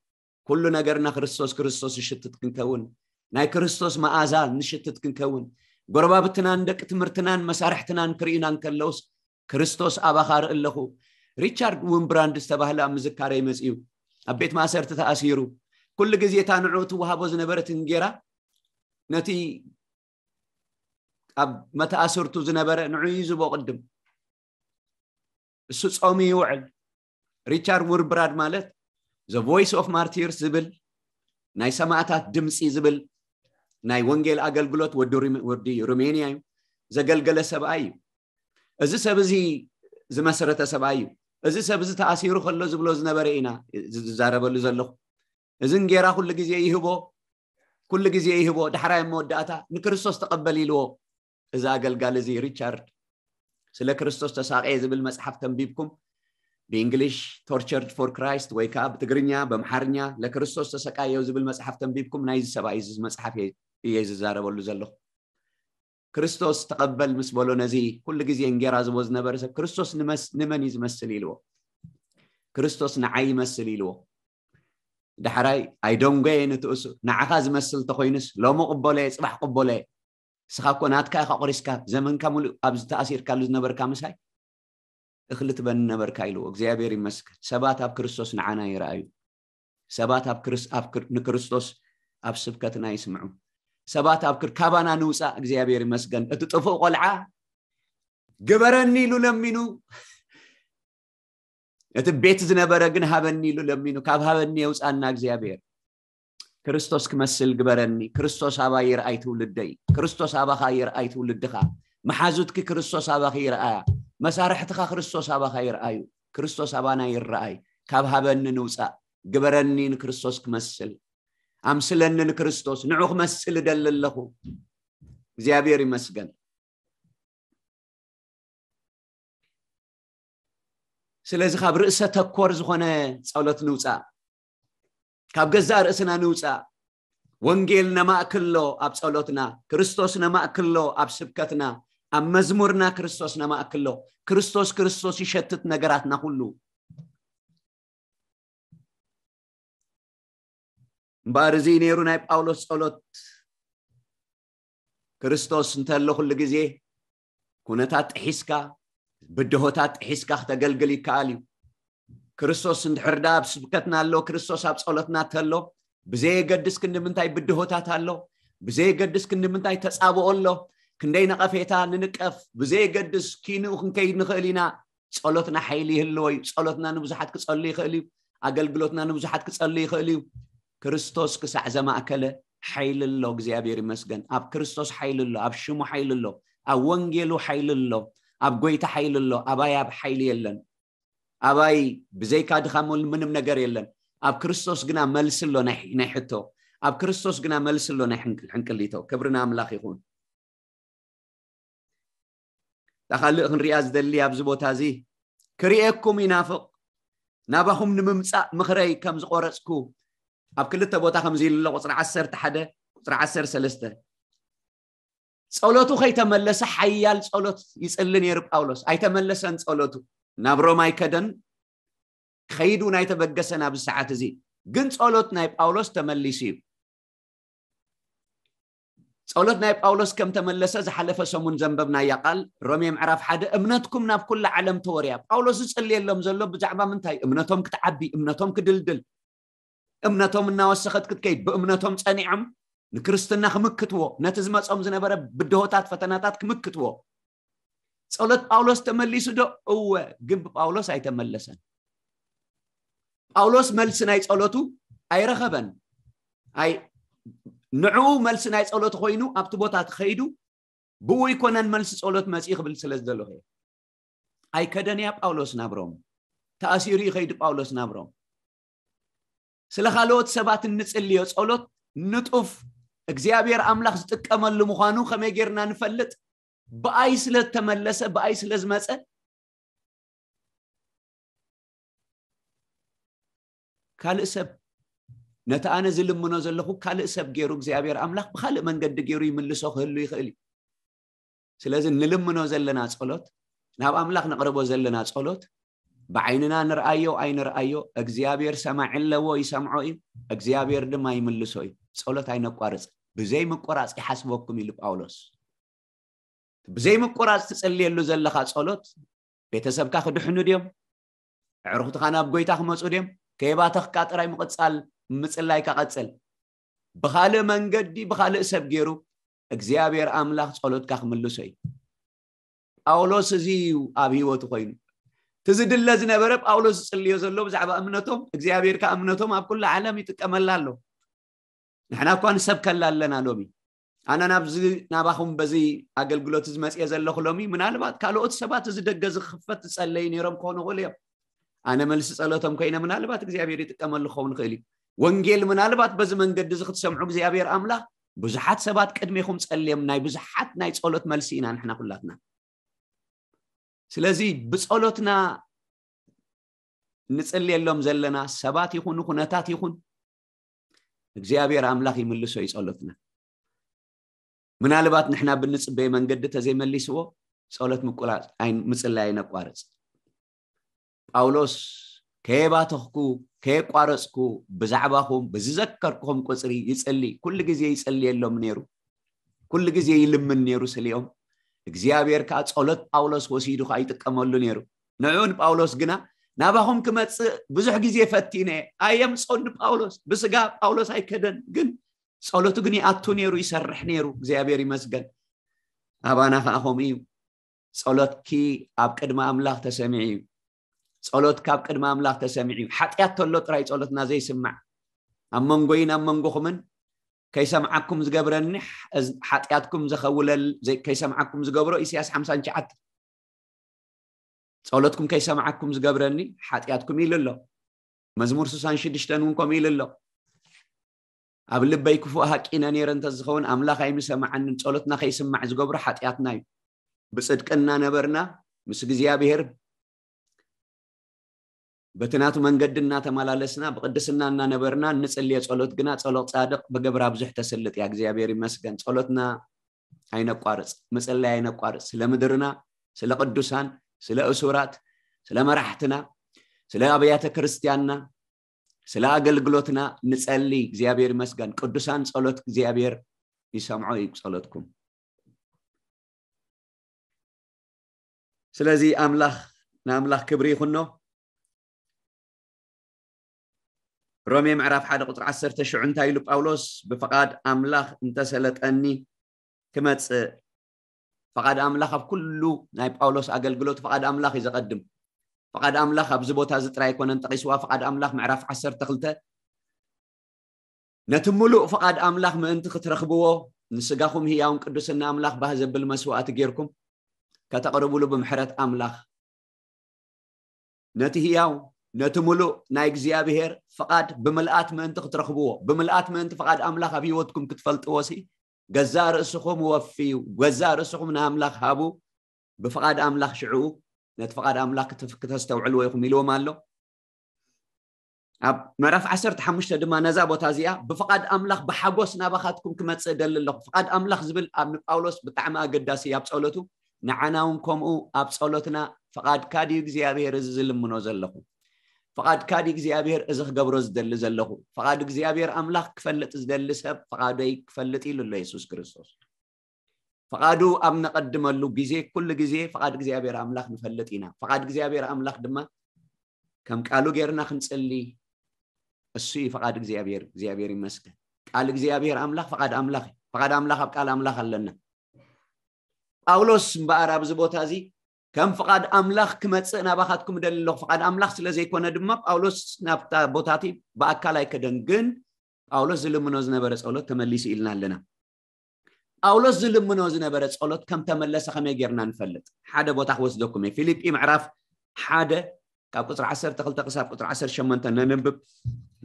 ኩሉ ነገርና ክርስቶስ፣ ክርስቶስ ይሽትት ክንከውን፣ ናይ ክርስቶስ መኣዛ ንሽትት ክንከውን፣ ጎረባብትናን ደቂ ትምህርትናን መሳርሕትናን ክርእዩና እንከለውስ፣ ክርስቶስ ኣባኻ ርኢ ኣለኹ። ሪቻርድ ዊምብራንድ ዝተባህለ ኣብ ምዝካረይ መጺኡ፣ ኣብ ቤት ማእሰርቲ ተኣሲሩ፣ ኩሉ ግዜ እታ ንዕኡ ትወሃቦ ዝነበረት እንጌራ ነቲ ኣብ መተኣስርቱ ዝነበረ ንዑ ይዝቦ ቅድም። እሱ ጾሙ ይውዕል። ሪቻርድ ዊምብራንድ ማለት The Voice of Martyrs ዝብል፣ ናይ ሰማዕታት ድምፂ ዝብል ናይ ወንጌል ኣገልግሎት ወዲ ሩሜ-፣ ወዲ ሩሜንያ እዩ፣ ዘገልገለ ሰብኣይ እዩ። እዚ ሰብ እዚ ዝመስረተ ሰብኣይ እዩ። እዚ ሰብ እዚ ተኣሲሩ ከሎ ዝብሎ ዝነበረ ኢና ዝዛረበሉ ዘለኹ። እዚ እንጌራ ኩሉ ግዜ ይህቦ፣ ኩሉ ግዜ ይህቦ። ዳሕራይ ኣብ መወዳእታ ንክርስቶስ ተቐበል ኢልዎ። እዚ ኣገልጋሊ እዚ ሪቻርድ ስለ ክርስቶስ ተሳቀየ ዝብል መጽሓፍ ተንቢብኩም፣ ብእንግሊሽ Tortured for Christ ወይ ከዓ ብትግርኛ፣ በምሓርኛ ለክርስቶስ ተሰቃየው ዝብል መጽሓፍ ተንቢብኩም፣ ናይዚ ሰብኣይ እዚ መጽሓፍ እየ፣ እየ ዝዛረበሉ ዘለኹ። ክርስቶስ ተቐበል ምስ በሎ ነዚ ኩሉ ግዜ እንጌራ ዝቦ ዝነበረ ሰብ ክርስቶስ ንመስ-፣ ንመን እዩ ዝመስል ኢልዎ። ክርስቶስ ንዓይ ይመስል ኢልዎ። ዳሕራይ ኣይደንጎየ ንትእሱ፣ ንዓኻ ዝመስል ተኾይኑስ ሎሚ ቅበሎየ፣ ጽባሕ ቅበሎየ። ንስኻ እኮ ናትካ ኢኻ ቆሪስካ፣ ዘመንካ ሙሉእ ኣብዚ ተኣሲርካሉ ዝነበርካ ምሳይ እኽሊ ትበኒ ነበርካ ኢልዎ። እግዚኣብሔር ይመስገን። ሰባት ኣብ ክርስቶስ ንዓና ይረኣዩ። ሰባት ኣብ ክርስ-፣ ኣብ ክር-፣ ንክርስቶስ ኣብ ስብከትና ይስምዑ። ሰባት ኣብ ክር-፣ ካባና ንውፃእ እግዚኣብሔር ይመስገን። እቲ ጥፉእ ቆልዓ ግበረኒ ኢሉ ለሚኑ፣ እቲ ቤት ዝነበረ ግን ሃበኒ ኢሉ ለሚኑ። ካብ ሃበኒ የውፃና እግዚኣብሔር። ክርስቶስ ክመስል ግበረኒ። ክርስቶስ ኣባይ ይርኣይ ትውልደይ። ክርስቶስ ኣባኻ ይርኣይ ትውልድኻ። መሓዙትኪ ክርስቶስ ኣባኺ ይርኣያ። መሳርሕትኻ ክርስቶስ ኣባኻ ይርኣዩ። ክርስቶስ ኣባና ይርኣይ። ካብ ሃበኒ ንውፃእ። ግበረኒ ንክርስቶስ ክመስል። ኣምስለኒ ንክርስቶስ። ንዑ ክመስል እደሊ ኣለኹ። እግዚኣብሔር ይመስገን። ስለዚ ካብ ርእሰ ተኮር ዝኾነ ጸሎት ንውጻእ፣ ካብ ገዛእ ርእስና ንውጻእ። ወንጌል ነማእክሎ ኣብ ጸሎትና፣ ክርስቶስ ነማእክሎ ኣብ ስብከትና፣ ኣብ መዝሙርና ክርስቶስ ነማእክሎ። ክርስቶስ፣ ክርስቶስ ይሸትት ነገራትና ኩሉ። እምበኣር እዚ ነይሩ ናይ ጳውሎስ ጸሎት። ክርስቶስ እንተሎ ኩሉ ግዜ ኩነታት ጥሒስካ፣ ብድሆታት ጥሒስካ ክተገልግል ይከኣል እዩ። ክርስቶስ እንድሕር ደኣ ኣብ ስብከትና ኣሎ፣ ክርስቶስ ኣብ ጸሎትና እንተሎ፣ ብዘየገድስ ክንዲ ምንታይ ብድሆታት ኣሎ፣ ብዘየገድስ ክንዲ ምንታይ ተጻብኦ ኣሎ፣ ክንደይ ነቐፌታ ንንቀፍ፣ ብዘየገድስ ኪንኡ ክንከይድ ንኽእል ኢና። ጸሎትና ሓይሊ ይህልዎ እዩ። ጸሎትና ንብዙሓት ክጸሉ ይኽእል እዩ። ኣገልግሎትና ንብዙሓት ክጸሉ ይኽእል እዩ። ክርስቶስ ክሳዕ ዘማእከለ ሓይሊ ኣሎ። እግዚኣብሔር ይመስገን። ኣብ ክርስቶስ ሓይሊ ኣሎ፣ ኣብ ሽሙ ሓይሊ ኣሎ፣ ኣብ ወንጌሉ ሓይሊ ኣሎ፣ ኣብ ጎይታ ሓይሊ ኣሎ። ኣባይ ኣብ ሓይሊ የለን። ኣባይ ብዘይካ ድኻም ምንም ነገር የለን። ኣብ ክርስቶስ ግና መልሲ ኣሎ ናይ፣ ናይ ሕቶ። ኣብ ክርስቶስ ግና መልሲ ኣሎ ናይ ሕንቅል-፣ ሕንቅሊቶ። ክብሪ ንኣምላኽ ይኹን። እታ ካልእ ክንሪኣ ዝደሊ ኣብዚ ቦታ እዚ፣ ክርእየኩም ይናፍቕ፣ ናባኹም ንምምጻእ ምኽረይ ከም ዝቖረጽኩ፣ ኣብ ክልተ ቦታ ከምዚ ኢሉ ኣሎ፣ ቁጽሪ ዓሰርተ ሓደ፣ ቁጽሪ ዓሰርተ ሰለስተ። ጸሎቱ ከይተመለሰ ሓያል ጸሎት ይጽሊ ነይሩ ጳውሎስ። ኣይተመለሰን ጸሎቱ። ናብ ሮም ኣይከደን፣ ክኸይድ እውን ኣይተበገሰን ኣብዚ ሰዓት እዚ። ግን ጸሎት ናይ ጳውሎስ ተመሊሱ እዩ። ጸሎት ናይ ጳውሎስ ከም ተመለሰ ዝሓለፈ ሰሙን ዘንበብናያ ቃል ሮሜ ምዕራፍ ሓደ፣ እምነትኩም ናብ ኩላ ዓለም ተወርያ። ጳውሎስ ዝጽልየሎም ዘሎ ብዛዕባ ምንታይ? እምነቶም ክትዓቢ፣ እምነቶም ክድልድል፣ እምነቶም እናወሰኸት ክትከይድ፣ ብእምነቶም ጸኒዖም ንክርስትና ክምክትዎ፣ ነቲ ዝመጾም ዝነበረ ብድሆታት፣ ፈተናታት ክምክትዎ። ጸሎት ጳውሎስ ተመሊሱ ዶ? እወ፣ ግን ብጳውሎስ ኣይተመለሰን። ጳውሎስ መልሲ ናይ ጸሎቱ ኣይረኸበን። ኣይ፣ ንዕኡ መልሲ ናይ ጸሎት ኮይኑ ኣብቲ ቦታ ትኸይዱ ብኡ ይኮነን መልሲ ጸሎት መጽኢ ክብል ስለ ዝደለኹ እየ። ኣይከደን እያ ጳውሎስ ናብ ሮም። ተኣሲሩ ይኸይድ ጳውሎስ ናብ ሮም። ስለ ካልኦት ሰባት እንጽልዮ ጸሎት ንጡፍ እግዚኣብሔር ኣምላኽ ዝጥቀመሉ ምዃኑ ከመይ ጌርና ንፈልጥ? ብኣይ ስለ ዝተመለሰ፣ ብኣይ ስለ ዝመጸ ካልእ ሰብ ነቲ ኣነ ዝልምኖ ዘለኹ ካልእ ሰብ ገይሩ እግዚኣብሔር ኣምላኽ ብኻልእ መንገዲ ገይሩ ይምልሶ ክህሉ ይኽእል እዩ። ስለዚ ንልምኖ ዘለና ጸሎት፣ ናብ ኣምላኽ ነቕርቦ ዘለና ጸሎት ብዓይንና ንርኣዮ ኣይንርኣዮ እግዚኣብሔር ሰማዒ ኣለዎ፣ ይሰምዖ እዩ፣ እግዚኣብሔር ድማ ይምልሶ እዩ። ጸሎት ኣይነቋርጽ። ብዘይ ምቁራጽ ይሓስበኩም ኢሉ ጳውሎስ። ብዘይ ምቁራጽ ትጽልየሉ ዘለኻ ጸሎት ቤተሰብካ ክድሕኑ ድዮም? ኣዕሩኽትኻ ናብ ጎይታ ክመጹ ድዮም? ከየባተኽካ ጥራይ ምቕጻል ምጽላይካ ቀጽል። ብኻልእ መንገዲ ብኻልእ ሰብ ገይሩ እግዚኣብሔር ኣምላኽ ጸሎትካ ክምልሶ እዩ። ጳውሎስ እዚ እዩ ኣብ ህይወቱ ኮይኑ። እቲ ዝድለ ዝነበረ ጳውሎስ ዝጽልዮ ዘሎ ብዛዕባ እምነቶም እግዚኣብሔር ከኣ እምነቶም ኣብ ኩሉ ዓለም ይጥቀመላ ኣሎ። ንሕና እኳ ንሰብከላ ኣለና ሎሚ። ኣነ ናብዚ ናባኹም በዚ ኣገልግሎት እዚ መጽየ ዘለኹ ሎሚ ምናልባት ካልኦት ሰባት እዚ ደገ ዝኽፈት ዝጸለዩ ነይሮም ክኾኑ ይኽእሉ እዮም። ኣነ መልሲ ጸሎቶም ኮይነ ምናልባት እግዚኣብሔር ይጥቀመሉ ክኸውን ይኽእል እዩ። ወንጌል ምናልባት በዚ መንገዲ እዚ ክትሰምዑ እግዚኣብሔር ኣምላኽ ብዙሓት ሰባት ቅድሜኹም ጸልዮም ናይ ብዙሓት ናይ ጸሎት መልሲ ኢና ንሕና ኩላትና። ስለዚ ብጸሎትና ንጽልየሎም ዘለና ሰባት ይኹኑ ኩነታት ይኹን እግዚኣብሔር ኣምላኽ ይምልሶ እዩ ጸሎትና። ምናልባት ንሕና ብንጽበየ መንገዲ ተዘይመሊስዎ ጸሎት ምቁራጽ ኣይ- ምጽላይ ኣይነቋርጽ። ጳውሎስ ከየባተኽኩ ከየቋረጽኩ ብዛዕባኹም ብዝዘከርኩኹም ቁጽሪ ይጽሊ፣ ኩሉ ግዜ ይጽልየሎም ነይሩ፣ ኩሉ ግዜ ይልምን ነይሩ ስሊኦም። እግዚኣብሔር ከኣ ጸሎት ጳውሎስ ወሲዱ ከኣ ይጥቀመሉ ነይሩ። ንዕኡ ንጳውሎስ ግና ናባኹም ክመጽእ ብዙሕ ግዜ ፈቲነ ኣየምጾን ንጳውሎስ። ብስጋ ጳውሎስ ኣይከደን፣ ግን ጸሎቱ ግን ይኣቱ ነይሩ፣ ይሰርሕ ነይሩ። እግዚኣብሔር ይመስገን። ኣባና ከኣ ከምኡ እዩ። ጸሎትኪ ኣብ ቅድሚ ኣምላኽ ተሰሚዑ እዩ። ጸሎት ካብ ቅድሚ ኣምላኽ ተሰሚዑ እዩ። ሓጢኣት ተሎ ጥራይ ጸሎትና ዘይስማዕ። ኣብ መንጎይን ኣብ መንጎኹምን ከይሰምዓኩም ዝገብረኒ፣ እዝ- ሓጢኣትኩም ዘኸውለል ዘይ- ከይሰምዓኩም ዝገብሮ ኢሳያስ ሓምሳን ትሽዓተን። ጸሎትኩም ከይሰምዓኩም ዝገብረኒ ሓጢኣትኩም ኢሉ ኣሎ። መዝሙር ስሳን ሽዱሽተን እውን ከምኡ ኢሉ ኣሎ። ኣብ ልበይ ክፉእ ሃቂነ ነይረ እንተዝኸውን ኣምላኽ ኣይምሰማዓንን። ጸሎትና ከይስማዕ ዝገብሮ ሓጢኣትና እዩ። ብጽድቂ እናነበርና ምስ እግዚኣብሔር በቲ ናቱ መንገዲ እናተመላለስና ብቅድስና እናነበርና እንጽልዮ ጸሎት ግና ጸሎት ጻድቅ ብገብራ ብዙሕ ተስልጥ እያ። እግዚኣብሔር ይመስገን። ጸሎትና ኣይነቋርጽ፣ ምጽላይ ኣይነቋርጽ። ስለ ምድርና፣ ስለ ቅዱሳን፣ ስለ እሱራት፣ ስለ መራሕትና፣ ስለ ኣብያተ ክርስቲያንና፣ ስለ ኣገልግሎትና ንጸሊ። እግዚኣብሔር ይመስገን። ቅዱሳን ጸሎት እግዚኣብሔር ይሰምዖ እዩ ጸሎትኩም። ስለዚ ኣምላኽ ንኣምላኽ ክብሪ ይኹኖ። ሮሜ ምዕራፍ ሓደ ቁፅሪ ዓሰርተ ሽዑ እንታይ ኢሉ ጳውሎስ? ብፍቓድ ኣምላኽ እንተሰለጠኒ ክመፅእ። ፍቓድ ኣምላኽ ኣብ ኩሉ ናይ ጳውሎስ ኣገልግሎት ፍቓድ ኣምላኽ እዩ ዘቐድም። ፍቓድ ኣምላኽ ኣብዚ ቦታ እዚ ጥራይ ኣይኮነን ጠቒስዋ። ፍቓድ ኣምላኽ ምዕራፍ ዓሰርተ ክልተ ነቲ ምሉእ ፍቓድ ኣምላኽ ምእንቲ ክትረኽብዎ ንስጋኹም ህያውን ቅዱስን ንኣምላኽ ባህ ዘብል መስዋእቲ ጌርኩም ከተቕርብሉ ብምሕረት ኣምላኽ ነቲ ህያው ነቲ ምሉእ ናይ እግዚኣብሔር ፍቓድ ብምልኣት ምእንቲ ክትረኽብዎ ብምልኣት ምእንቲ ፍቓድ ኣምላኽ ኣብ ህይወትኩም ክትፈልጥዎ ሲ ገዛእ ርእስኹም ወፍዩ ገዛእ ርእስኹም ንኣምላኽ ሃቡ ብፍቓድ ኣምላኽ ሽዕኡ ነቲ ፍቓድ ኣምላኽ ክተስተውዕልዎ ኢኹም ኢልዎም ኣሎ። ኣብ ምዕራፍ ዓሰርተ ሓሙሽተ ድማ ነዛ ቦታ እዚኣ ብፍቓድ ኣምላኽ ብሓጎስ ናባኻትኩም ክመፅእ ደሊ ኣለኹ። ፍቓድ ኣምላኽ ዝብል ኣብ ንጳውሎስ ብጣዕሚ ኣገዳሲ ኣብ ፀሎቱ ንዓና እውን ከምኡ ኣብ ፀሎትና ፍቓድካ ድዩ እግዚኣብሔር እዚ ዝልምኖ ዘለኹ? ፍቓድካ ድዩ እግዚኣብሔር እዚ ክገብሮ ዝደሊ ዘለኹ? ፍቓድ እግዚኣብሔር ኣምላኽ ክፈልጥ ዝደሊ ሰብ ፍቓደይ ክፈልጥ ኢሉ ኣሎ የሱስ ክርስቶስ። ፍቓዱ ኣብ ነቐድመሉ ግዜ ኩሉ ግዜ ፍቓድ እግዚኣብሔር ኣምላኽ ንፈልጥ ኢና። ፍቓድ እግዚኣብሔር ኣምላኽ ድማ ከም ቃሉ ጌርና ክንጽሊ እሱ እዩ ፍቓድ እግዚኣብሔር። እግዚኣብሔር ይመስገን። ቃል እግዚኣብሔር ኣምላኽ ፍቓድ ኣምላኽ እዩ። ፍቓድ ኣምላኽ ኣብ ቃል ኣምላኽ ኣለና። ጳውሎስ እምበኣር ኣብዚ ቦታ እዚ ከም ፍቓድ ኣምላኽ ክመጽእ ናባኻትኩም እደሊ ኣለኹ። ፍቓድ ኣምላኽ ስለ ዘይኮነ ድማ ጳውሎስ ናብታ ቦታቲ ብኣካል ኣይከደን። ግን ጳውሎስ ዝልምኖ ዝነበረ ጸሎት ተመሊሱ ኢልና ኣለና። ጳውሎስ ዝልምኖ ዝነበረ ጸሎት ከም ተመለሰ ከመይ ጌርና ንፈልጥ? ሓደ ቦታ ክወስደኩም እየ። ፊልጲ ምዕራፍ ሓደ ካብ ቁጽሪ ዓሰርተ ክልተ ክሳብ ቁጽሪ ዓሰርተ ሸሞንተ ነንብብ።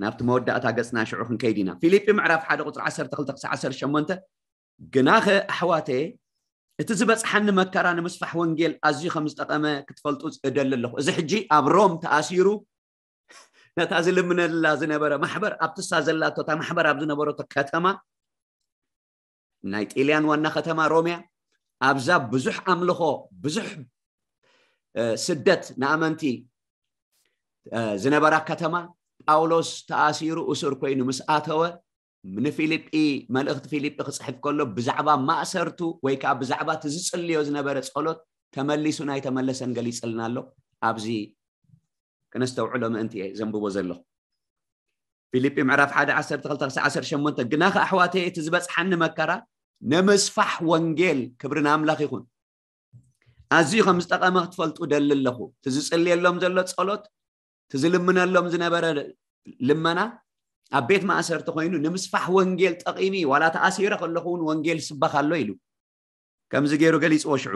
ናብቲ መወዳእታ ገጽና ሽዑ ክንከይድ ኢና። ፊልጲ ምዕራፍ ሓደ ቁጽሪ ዓሰርተ ክልተ ክሳብ ዓሰርተ ሸሞንተ፣ ግናኸ ኣሕዋተየ፣ እቲ ዝበጽሓኒ መከራ ንምስፋሕ ወንጌል ኣዝዩ ከም ዝጠቐመ ክትፈልጡ እደሊ ኣለኹ። እዚ ሕጂ ኣብ ሮም ተኣሲሩ ነታ ዝልምነላ ዝነበረ ማሕበር፣ ኣብትሳ ዘላቶ እታ ማሕበር ኣብ ዝነበረቶ ከተማ፣ ናይ ጢልያን ዋና ከተማ ሮምያ፣ ኣብዛ ብዙሕ ኣምልኾ፣ ብዙሕ ስደት ንኣመንቲ ዝነበራ ከተማ፣ ጳውሎስ ተኣሲሩ እሱር ኮይኑ ምስ ኣተወ፣ ንፊልጲ፣ መልእኽቲ ፊልጲ ክጽሕፍ ከሎ ብዛዕባ ማእሰርቱ ወይ ከዓ ብዛዕባ እቲ ዝጽልዮ ዝነበረ ጸሎት ተመሊሱ ናይ ተመለሰን ገሊጽልና ኣሎ። ኣብዚ ክነስተውዕሎ ምእንቲ እየ ዘንብቦ ዘለኹ። ፊልጲ ምዕራፍ ሓደ ዓሰርተ ክልተ ክሳብ ዓሰርተ ሸሞንተ፣ ግናኸ ኣሕዋተይ፣ እቲ ዝበጽሓኒ መከራ ንምስፋሕ ወንጌል፣ ክብሪ ንኣምላኽ ይኹን፣ ኣዝዩ ከም ዝጠቐመ ክትፈልጡ ደሊ ኣለኹ። እቲ ዝጽልየሎም ዘሎ ጸሎት፣ እቲ ዝልምነሎም ዝነበረ ልመና ኣብ ቤት ማእሰርቲ ኮይኑ ንምስፋሕ ወንጌል ጠቒሚ፣ ዋላ ተኣሲረ ከለኹ እውን ወንጌል ይስበኽ ኣሎ ኢሉ። ከምዚ ገይሩ ገሊጽዎ። ሽዑ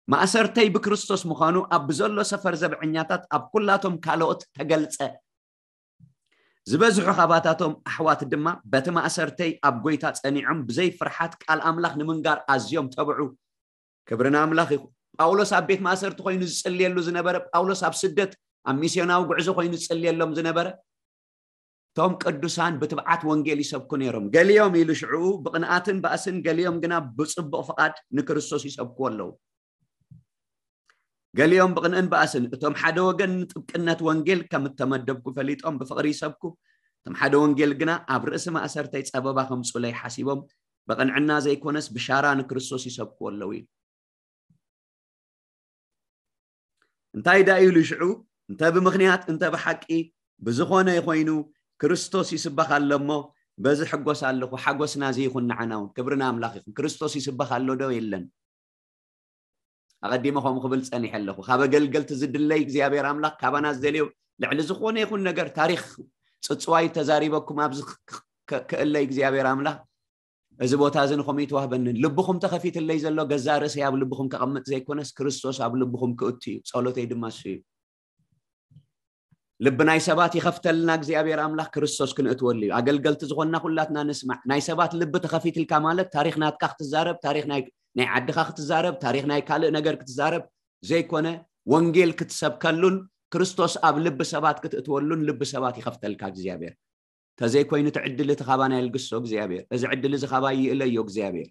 ማእሰርተይ ብክርስቶስ ምዃኑ ኣብ ብዘሎ ሰፈር ዘብዐኛታት ኣብ ኩላቶም ካልኦት ተገልጸ። ዝበዝሑ ካባታቶም ኣሕዋት ድማ በቲ ማእሰርተይ ኣብ ጎይታ ጸኒዖም ብዘይ ፍርሓት ቃል ኣምላኽ ንምንጋር ኣዝዮም ተብዑ። ክብሪ ንኣምላኽ ይኹን። ጳውሎስ ኣብ ቤት ማእሰርቲ ኮይኑ ዝጽልየሉ ዝነበረ፣ ጳውሎስ ኣብ ስደት ኣብ ሚስዮናዊ ጉዕዞ ኮይኑ ዝጽልየሎም ዝነበረ፣ እቶም ቅዱሳን ብትብዓት ወንጌል ይሰብኩ ነይሮም። ገሊኦም ኢሉ ሽዑ ብቕንኣትን ባእስን፣ ገሊኦም ግና ብጽቡቕ ፍቓድ ንክርስቶስ ይሰብክዎ ኣለዉ። ገሊኦም ብቕንእን ባእስን፣ እቶም ሓደ ወገን ንጥብቅነት ወንጌል ከም እተመደብኩ ፈሊጦም ብፍቕሪ ይሰብኩ፣ እቶም ሓደ ወንጌል ግና ኣብ ርእሲ ማእሰርተይ ጸበባ ከምጽኡለይ ሓሲቦም፣ ብቕንዕና ዘይኮነስ ብሻራ ንክርስቶስ ይሰብክዎ ኣለዉ ኢሉ። እንታይ ደኣ ኢሉ ሽዑ? እንተ ብምኽንያት እንተ ብሓቂ ብዝኾነ ይኾይኑ ክርስቶስ ይስበኽ ኣሎ እሞ በዚ ሕጎስ ኣለኹ፣ ሓጎስና እዚ ይኹን ንዓና እውን። ክብሪ ንኣምላኽ ይኹን። ክርስቶስ ይስበኽ ኣሎ ዶ የለን? ኣቐዲመ ከምኡ ክብል ጸኒሐ ኣለኹ። ካብ ኣገልገልቲ ዝድለይ እግዚኣብሔር ኣምላኽ ካባና ዝደልዮ ልዕሊ ዝኾነ ይኹን ነገር፣ ታሪኽ ጽጽዋይ ተዛሪበኩም ኣብዚ ክ- ክ- ክእለይ እግዚኣብሔር ኣምላኽ፣ እዚ ቦታ እዚ ንኹም ይትዋህበንን። ልብኹም ተኸፊትለይ ዘሎ ገዛ ርእሰይ ኣብ ልብኹም ከቐምጥ ዘይኮነስ ክርስቶስ ኣብ ልብኹም ክእቱ እዩ። ጸሎተይ ድማ እሱ እዩ። ልቢ ናይ ሰባት ይኸፍተልና እግዚኣብሔር ኣምላኽ፣ ክርስቶስ ክንእትወሉ እዩ። ኣገልገልቲ ዝኾንና ኩላትና ንስማዕ። ናይ ሰባት ልቢ ተኸፊትልካ ማለት ታሪኽ ናትካ ክትዛረብ፣ ታሪኽ ናይ ናይ ዓድኻ ክትዛረብ፣ ታሪኽ ናይ ካልእ ነገር ክትዛረብ ዘይኮነ፣ ወንጌል ክትሰብከሉን ክርስቶስ ኣብ ልቢ ሰባት ክትእትወሉን ልቢ ሰባት ይኸፍተልካ እግዚኣብሔር። ተዘይኮይኑ እቲ ዕድል እቲ ካባና ይልግሶ እግዚኣብሔር። እዚ ዕድል እዚ ካባይ ይእለዮ እግዚኣብሔር።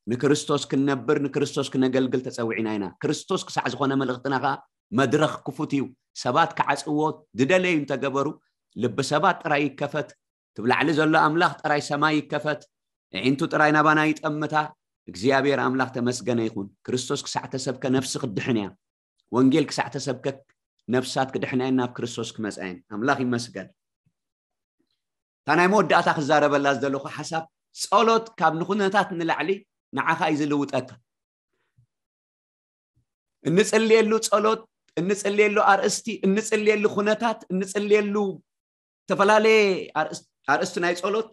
ንክርስቶስ ክንነብር፣ ንክርስቶስ ክነገልግል ተጸዊዕና ኢና። ክርስቶስ ክሳዕ ዝኾነ መልእኽትና ኸኣ መድረኽ ክፉት እዩ። ሰባት ክዓጽዎ ዝደለዩ እንተገበሩ፣ ልቢ ሰባት ጥራይ ይከፈት፣ እቲ ብላዕሊ ዘሎ ኣምላኽ ጥራይ ሰማይ ይከፈት፣ ኣዒንቱ ጥራይ ናባና ይጠምታ። እግዚኣብሔር ኣምላኽ ተመስገነ ይኹን። ክርስቶስ ክሳዕ ተሰብከ ነፍሲ ክትድሕን እያ። ወንጌል ክሳዕ ተሰብከ ነፍሳት ክድሕና እየን፣ ናብ ክርስቶስ ክመጻ እየን። ኣምላኽ ይመስገን። እታ ናይ መወዳእታ ክዛረበላ ዝደለኹ ሓሳብ፣ ጸሎት ካብ ንኹነታት ንላዕሊ ንዓኻ እዩ ዝልውጠካ። እንጽልየሉ ጸሎት፣ እንጽልየሉ ኣርእስቲ፣ እንጽልየሉ ኩነታት፣ እንጽልየሉ ዝተፈላለየ ኣርእስ- ኣርእስቲ ናይ ጸሎት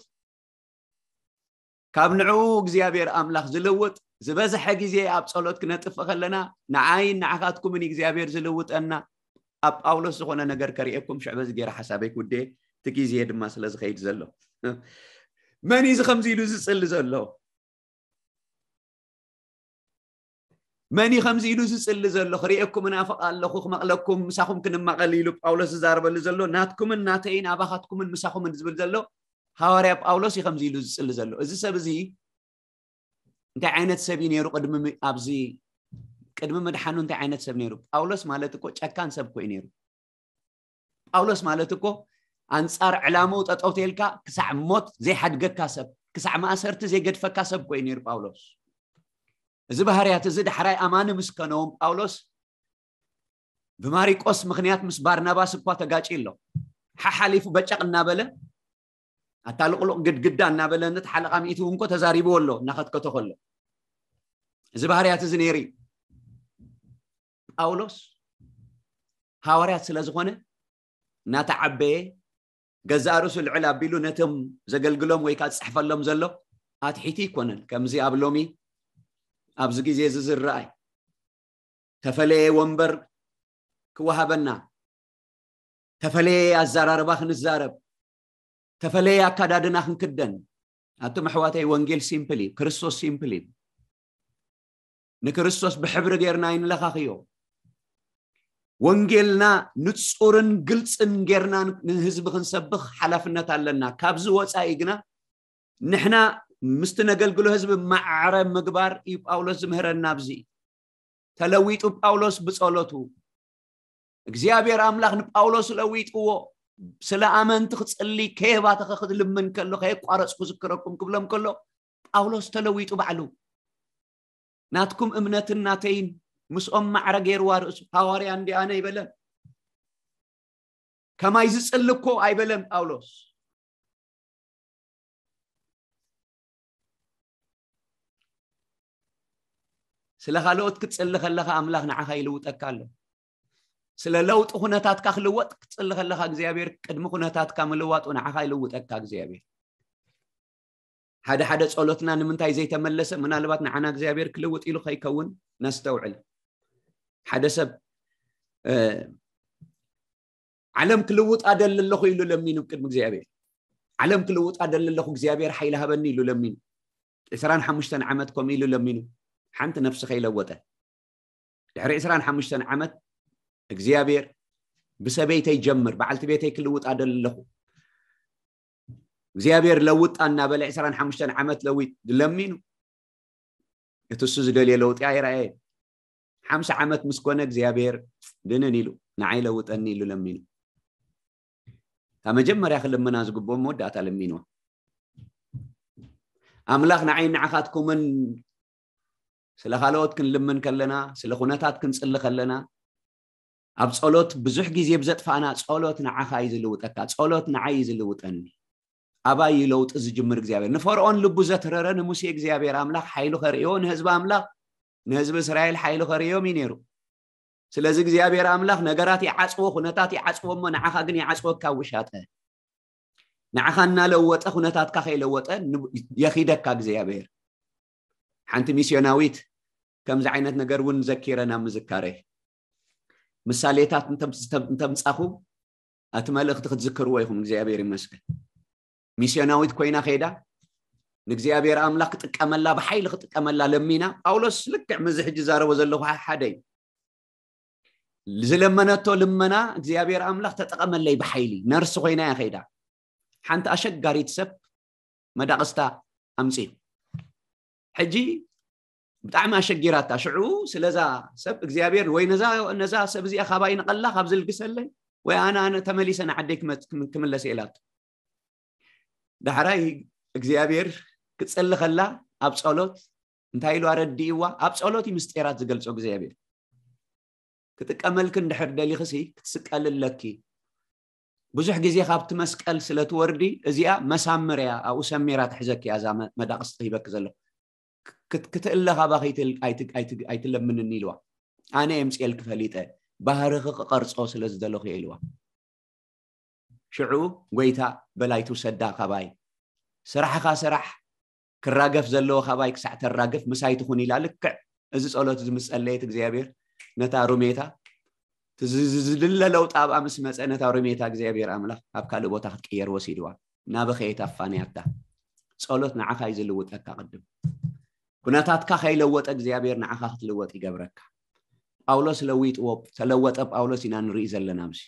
ካብ ንዕኡ እግዚኣብሔር ኣምላኽ ዝልውጥ፣ ዝበዝሐ ግዜ ኣብ ጸሎት ክነጥፍእ ከለና ንዓይን ንዓኻትኩምን እግዚኣብሔር ዝልውጠና። ኣብ ጳውሎስ ዝኾነ ነገር ከርእየኩም ሽዕ በዚ ገይረ ሓሳበይ ክውድኤ፣ እቲ ግዜ ድማ ስለ ዝኸይድ ዘሎ። መን እዩ እዚ ከምዚ ኢሉ ዝጽሊ ዘሎ? መን እዩ ከምዚ ኢሉ ዝጽሊ ዘሎ? ክርእየኩም እናፍቕ ኣለኹ፣ ክመቕለኩም፣ ምሳኹም ክንማቐል ኢሉ ጳውሎስ ዝዛረበሉ ዘሎ። ናትኩምን ናተይን ኣባኻትኩምን ምሳኹምን ዝብል ዘሎ ሃዋርያ ጳውሎስ እዩ ከምዚ ኢሉ ዝጽሊ ዘሎ። እዚ ሰብ እዚ እንታይ ዓይነት ሰብ እዩ ነይሩ? ቅድሚ ም- ኣብዚ ቅድሚ ምድሓኑ እንታይ ዓይነት ሰብ ነይሩ? ጳውሎስ ማለት እኮ ጨካን ሰብ እኮ እዩ ነይሩ። ጳውሎስ ማለት እኮ ኣንጻር ዕላምኡ ጠጠው ተልካ ክሳዕ ሞት ዘይሓድገካ ሰብ፣ ክሳዕ ማእሰርቲ ዘይገድፈካ ሰብ እኮ እዩ ነይሩ ጳውሎስ። እዚ ባህርያት እዚ ዳሕራይ ኣማኒ ምስ ከነዎም ጳውሎስ ብማሪቆስ ምኽንያት ምስ ባርናባስ እኳ ተጋጭ ኣሎ። ሓሓሊፉ በጨቕ እናበለ ኣታ ልቕሉቕ ግድግዳ እናበለ ነቲ ሓለቓ ሚእቲ እውን እኮ ተዛሪብዎ ኣሎ እናኸትከቶ ከሎ። እዚ ባህርያት እዚ ነይሩ እዩ። ጳውሎስ ሃዋርያት ስለ ዝኾነ እናተዓበየ ገዛእ ርእሱ ልዕል ኣቢሉ ነቶም ዘገልግሎም ወይ ከዓ ዝፅሕፈሎም ዘሎ ኣትሒቱ ይኮነን። ከምዚ ኣብ ሎሚ ኣብዚ ግዜ እዚ ዝረኣይ ተፈለየ ወንበር ክወሃበና፣ ተፈለየ ኣዘራርባ ክንዛረብ፣ ተፈለየ ኣካዳድና ክንክደን። ኣቱም ኣሕዋተይ፣ ወንጌል ሲምፕል እዩ። ክርስቶስ ሲምፕል እዩ። ንክርስቶስ ብሕብሪ ጌርና ይንለኻኽዮ። ወንጌልና ንጹርን ግልጽን ጌርና ንህዝቢ ክንሰብኽ ሓላፍነት ኣለና። ካብዚ ወጻኢ ግና ንሕና ምስቲ ነገልግሎ ህዝቢ ማዕረ ምግባር እዩ ጳውሎስ ዝምህረና። ኣብዚ ተለዊጡ ጳውሎስ ብጸሎቱ እግዚኣብሔር ኣምላኽ ንጳውሎስ ለዊጥዎ። ስለ ኣመንቲ ክጽሊ ከየባተኸ ክልምን ከሎ ከየቋረጽ ክዝክረኩም ክብሎም ከሎ ጳውሎስ ተለዊጡ ባዕሉ። ናትኩም እምነትን ናተይን ምስኦም ማዕረ ገይርዋ ርእሱ። ሃዋርያ እንዲ ኣነ ኣይበለን። ከማይ ዝጽሊ እኮ ኣይበለን ጳውሎስ። ስለ ካልኦት ክትጽሊ ከለኻ ኣምላኽ ንዓኻ ይልውጠካ ኣሎ። ስለ ለውጢ ኩነታትካ ክልወጥ ክትጽሊ ከለኻ እግዚኣብሔር ቅድሚ ኩነታትካ ምልዋጡ ንዓኻ ይልውጠካ እግዚኣብሔር። ሓደ ሓደ ጸሎትና ንምንታይ ዘይተመለሰ? ምናልባት ንዓና እግዚኣብሔር ክልውጥ ኢሉ ከይከውን ነስተውዕል። ሓደ ሰብ ዓለም ክልውጥ ኣደሊ ኣለኹ ኢሉ ለሚኑ ቅድሚ እግዚኣብሔር። ዓለም ክልውጥ ኣደሊ ኣለኹ እግዚኣብሔር ሓይሊ ሃበኒ ኢሉ ለሚኑ። ዕስራን ሓሙሽተን ዓመት ከምኡ ኢሉ ለሚኑ። ሓንቲ ነፍሲ ከይለወጠ ድሕሪ ዕስራን ሓሙሽተን ዓመት እግዚኣብሔር ብሰበይተይ ጀምር፣ በዓልቲ ቤተይ ክልውጥ ኣደሊ ኣለኹ እግዚኣብሔር ለውጣ እናበለ ዕስራን ሓሙሽተን ዓመት ለዊጥ ለሚኑ። እቲ እሱ ዝደልዮ ለውጢ ኣይረኣየ። ሓምሳ ዓመት ምስ ኮነ እግዚኣብሔር ድንን ኢሉ ንዓይ ለውጠኒ ኢሉ ለሚኑ። እታ መጀመርያ ክልምና ዝግብኦ መወዳእታ ለሚንዋ። ኣምላኽ ንዓይ ንዓኻትኩምን ስለ ካልኦት ክንልምን ከለና፣ ስለ ኩነታት ክንጽሊ ከለና፣ ኣብ ጸሎት ብዙሕ ግዜ ብዘጥፋእና፣ ጸሎት ንዓኻ እዩ ዝልውጠካ፣ ጸሎት ንዓይ እዩ ዝልውጠኒ። ኣባይ እዩ ለውጢ ዝጅምር እግዚኣብሔር። ንፈርዖን ልቡ ዘትረረ ንሙሴ እግዚኣብሔር ኣምላኽ ሓይሉ ከርእዮ፣ ንህዝቢ ኣምላኽ ንህዝቢ እስራኤል ሓይሉ ከርእዮም እዩ ነይሩ። ስለዚ እግዚኣብሔር ኣምላኽ ነገራት ይዓጽዎ፣ ኩነታት ይዓጽዎ እሞ ንዓኻ ግን ይዓጽወካ ውሻጠ። ንዓኻ እናለወጠ ኩነታትካ ከይለወጠ የኺደካ እግዚኣብሔር። ሓንቲ ሚስዮናዊት ከምዚ ዓይነት ነገር እውን ዘኪረ ናብ ምዝካረይ። ምሳሌታት እንተምጻኹ እቲ መልእኽቲ ክትዝክርዎ ኢኹም። እግዚኣብሔር ይመስገን። ሚስዮናዊት ኮይና ከይዳ ንእግዚኣብሔር ኣምላኽ ክጥቀመላ ብሓይሊ ክጥቀመላ ለሚና። ጳውሎስ ልክዕ ምዚ ሕጂ ዛረቦ ዘለኹ ሓደ እዩ። ዝለመነቶ ልመና እግዚኣብሔር ኣምላኽ ተጠቐመለይ ብሓይሊ። ነርሲ ኮይና እያ ከይዳ። ሓንቲ ኣሸጋሪት ሰብ መዳቕስታ ኣምፅዩ። ሕጂ ብጣዕሚ ኣሸጊራታ። ሽዑ ስለዛ ሰብ እግዚኣብሔር ወይ ነዛ ሰብ እዚኣ ካባይ ንቐላ ካብ ዝልግሰለይ ወይ ኣነ ኣነ ተመሊሰ ንዓደይ ክመ- ክም- ክምለስ ኢላቶ። ዳሕራይ እግዚኣብሔር ክጸሊ ከላ ኣብ ጸሎት እንታይ ኢሉ ኣረዲእዋ? ኣብ ጸሎት እዩ ምስጢራት ዝገልጾ እግዚኣብሔር። ክጥቀመልኪ እንድሕር ደሊኽሲ ክትስቀሊ ኣለኪ። ብዙሕ ግዜ ካብቲ መስቀል ስለ ትወርዲ እዚኣ መሳምር እያ፣ ኣብኡ ሰሚራ ትሕዘኪ እያ እዛ መ- መዳቕስቲ ሂበኪ ዘሎ። ክት- ክትእለ ካባ ከይትል- ኣይት- ኣይት- ኣይትለምንኒ ኢልዋ። ኣነ የምፅኤልኪ ፈሊጠ ባህርኺ ክቐርፆ ስለ ዝደለኹ እየ ኢልዋ። ሽዑ ጎይታ በላይ ትውሰዳ ካባይ ስራሕኻ ስራሕ ክራገፍ ዘለዎ ካባይ ክሳዕ ተራግፍ ምሳይ ትኹን ኢላ። ልክዕ እዚ ጸሎት እዚ ምስ ጸለየት እግዚኣብሔር ነታ ሩሜታ ዝድለ ለውጢ ኣብኣ ምስ መጸ ነታ ሩሜታ እግዚኣብሔር ኣምላኽ ኣብ ካልእ ቦታ ክትቅየር ወሲድዋ። ናበኸየት ኣፋንያታ። ጸሎት ንዓኻ እዩ ዝልውጠካ። ቅድም ኩነታትካ ከይለወጠ እግዚኣብሔር ንዓኻ ክትልወጥ ይገብረካ። ጳውሎስ ለዊጥዎ ተለወጠ ጳውሎስ ኢና ንርኢ ዘለና። ምሲ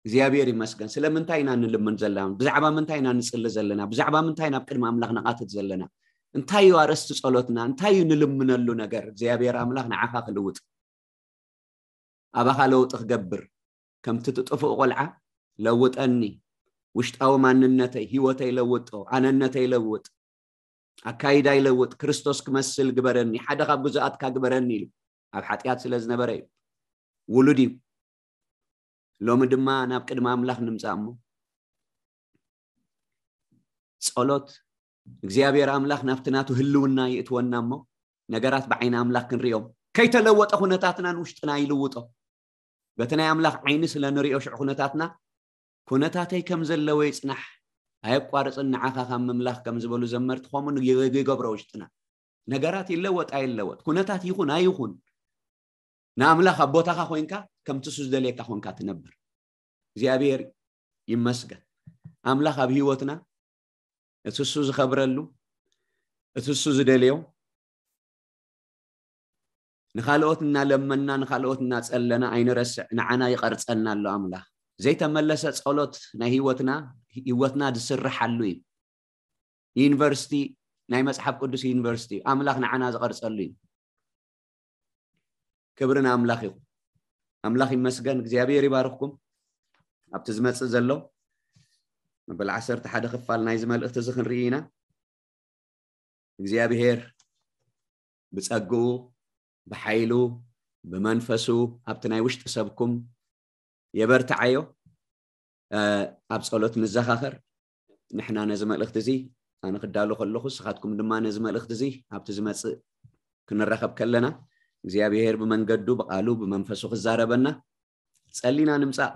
እግዚኣብሔር ይመስገን። ስለምንታይ ኢና ንልምን ዘለና? ብዛዕባ ምንታይ ኢና ንጽሊ ዘለና? ብዛዕባ ምንታይ ናብ ቅድሚ ኣምላኽ ንቓትት ዘለና? እንታይ እዩ ኣርእስቲ ጸሎትና? እንታይ እዩ ንልምነሉ ነገር? እግዚኣብሔር ኣምላኽ ንዓኻ ክልውጥ ኣባኻ ለውጢ ክገብር ከምቲ ትጥፍኡ ቆልዓ ለውጠኒ፣ ውሽጣዊ ማንነተይ ህይወተይ ለውጦ፣ ኣነነተይ ለውጥ፣ ኣካይዳ ይለውጥ፣ ክርስቶስ ክመስል ግበረኒ፣ ሓደ ካብ ግዙኣትካ ግበረኒ ኢሉ ኣብ ሓጢኣት ስለ ዝነበረ እዩ። ውሉድ እዩ። ሎሚ ድማ ናብ ቅድሚ ኣምላኽ ንምጻእ እሞ ጸሎት እግዚኣብሔር ኣምላኽ ናብቲ ናቱ ህልውና ይእትወና እሞ ነገራት ብዓይኒ ኣምላኽ ክንሪኦም፣ ከይተለወጠ ኩነታትና ንውሽጥና ይልውጦ። በቲ ናይ ኣምላኽ ዓይኒ ስለ ንሪኦ ሽዑ ኩነታትና ኩነታተይ ከም ዘለዎ ይጽናሕ፣ ኣየቋርጽን፣ ንዓኻ ካብ ምምላኽ ከም ዝበሉ ዘመርቲ ከምኡ ንግ-፣ ይገብሮ ውሽጥና። ነገራት ይለወጥ ኣይለወጥ፣ ኩነታት ይኹን ኣይኹን፣ ንኣምላኽ ኣብ ቦታኻ ኮይንካ ከምቲ እሱ ዝደልየካ ኮንካ ትነብር። እግዚኣብሔር ይመስገን። ኣምላኽ ኣብ ህይወትና እቲ እሱ ዝኸብረሉ፣ እቲ እሱ ዝደልዮ፣ ንኻልኦት እናለመና፣ ንኻልኦት እናጸለና ኣይንረስዕ። ንዓና ይቐርጸና ኣሎ ኣምላኽ። ዘይተመለሰ ጸሎት ናይ ህይወትና፣ ህይወትና ዝስርሓሉ እዩ። ዩኒቨርሲቲ፣ ናይ መጽሓፍ ቅዱስ ዩኒቨርሲቲ፣ ኣምላኽ ንዓና ዝቐርጸሉ እዩ። ክብሪ ንኣምላኽ ይኹን። ኣምላኽ ይመስገን። እግዚኣብሔር ይባርኽኩም። ኣብቲ ዝመጽእ ዘሎ መበል ዓሰርተ ሓደ ክፋል ናይዚ መልእኽቲ እዚ ክንርኢ ኢና። እግዚኣብሔር ብጸግኡ፣ ብሓይሉ፣ ብመንፈሱ ኣብቲ ናይ ውሽጢ ሰብኩም የበርትዓዮ። እ፣ ኣብ ጸሎት ንዘኻኸር። ንሕና ነዚ መልእኽቲ እዚ ኣነ ክዳሎ ከለኹ፣ ንስኻትኩም ድማ ነዚ መልእኽቲ እዚ ኣብቲ ዝመጽእ ክንራኸብ ከለና፣ እግዚኣብሔር ብመንገዱ፣ ብቓሉ፣ ብመንፈሱ ክዛረበና ጸሊና ንምጻእ።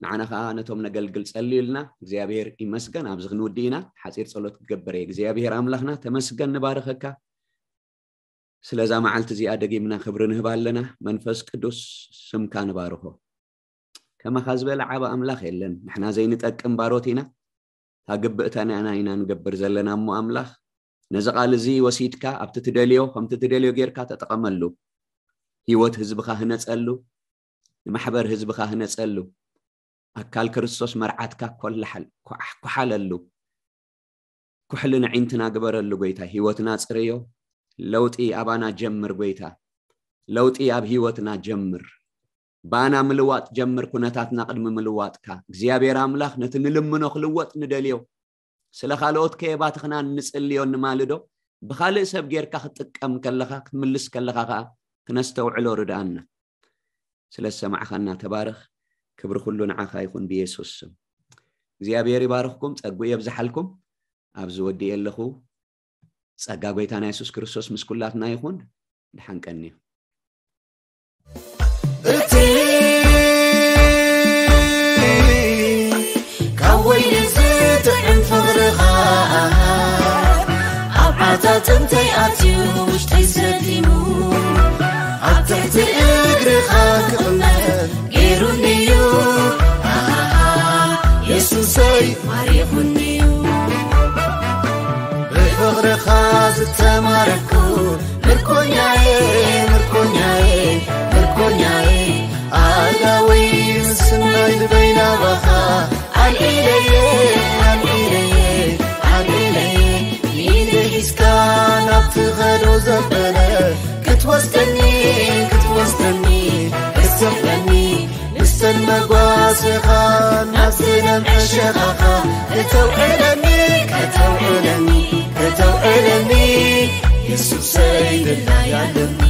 ንዓና ኸኣ ነቶም ነገልግል ጸልዩልና። እግዚኣብሔር ይመስገን። ኣብዚ ክንውድእ ኢና። ሓጺር ጸሎት ክገብር እየ። እግዚኣብሔር ኣምላኽና፣ ተመስገን፣ ንባርኸካ። ስለዛ መዓልቲ እዚኣ ደጊምና ክብሪ ንህብ ኣለና። መንፈስ ቅዱስ፣ ስምካ ንባርኾ። ከማኻ ዝበለ ዓቢ ኣምላኽ የለን። ንሕና ዘይንጠቅም ባሮት ኢና። እታ ግብእታና ኢና ንገብር ዘለና እሞ ኣምላኽ፣ ነዚ ቃል እዚ ወሲድካ ኣብቲ ትደልዮ፣ ከምቲ ትደልዮ ጌርካ ተጠቐመሉ። ህይወት ህዝብኻ ህነጸሉ፣ ንማሕበር ህዝብኻ ህነጸሉ። ኣካል ክርስቶስ መርዓትካ ኮላሓል-፣ ኮሓ-፣ ኮሓለሉ። ኩሕሊ ንዒንትና ግበረሉ ጎይታ። ህይወትና ጽርዮ። ለውጢ ኣባና ጀምር ጎይታ። ለውጢ ኣብ ህይወትና ጀምር። ባና ምልዋጥ ጀምር፣ ኩነታትና ቅድሚ ምልዋጥካ። እግዚኣብሔር ኣምላኽ፣ ነቲ ንልምኖ ክልወጥ ንደልዮ፣ ስለ ካልኦት ከየባትኽና እንጽልዮ እንማልዶ፣ ብኻልእ ሰብ ጌርካ ክትጥቀም ከለኻ፣ ክትምልስ ከለኻ ኸኣ ክነስተውዕሎ ርድኣና። ስለ ዝሰማዕኻና ተባረኽ። ክብሪ ኩሉ ንዓኻ ይኹን ብየሱስ ስም። እግዚኣብሔር ይባርኽኩም፣ ጸግኡ የብዝሓልኩም። ኣብዚ ወዲኤ ኣለኹ። ጸጋ ጎይታና የሱስ ክርስቶስ ምስ ኩላትና ይኹን። ደሓን ቀንዩ። እቲ ካብ ወይኒ ዝጥዕም ፍቕርኻ ኣብ ዓታትንተይ ኣትዩ ውሽጠይ ሰቲሙ፣ ኣብ ትሕቲ እግርኻ ክቕመጥ ገይሩኒ'ዩ። ኣሃ፣ የሱሰይ ማሪኹኒ'ዩ። ብፍቕርኻ ዝተማረኩ ምርኮኛዬ፣ ምርኮኛዬ፣ ምርኮኛዬ፣ ኣእዳወይ ምስናይ ልበይ ናባኻ ኣልዒለየ፣ ኣልዒለየ፣ ኣልዒለየ። ኢደይ ሒዝካ ናብ ትኸዶ ዘበለ ክትወስደኒ፣ ክትወስደኒ፣ ክትስሕበኒ፣ ምስተን መጓሰኻ ናብ ዝለምዐ ሸኻኻ ከተውዕለኒ፣ ከተውዕለኒ፣ ከተውዕለኒ፣ የሱሰይ ድላይ ኣለኒ።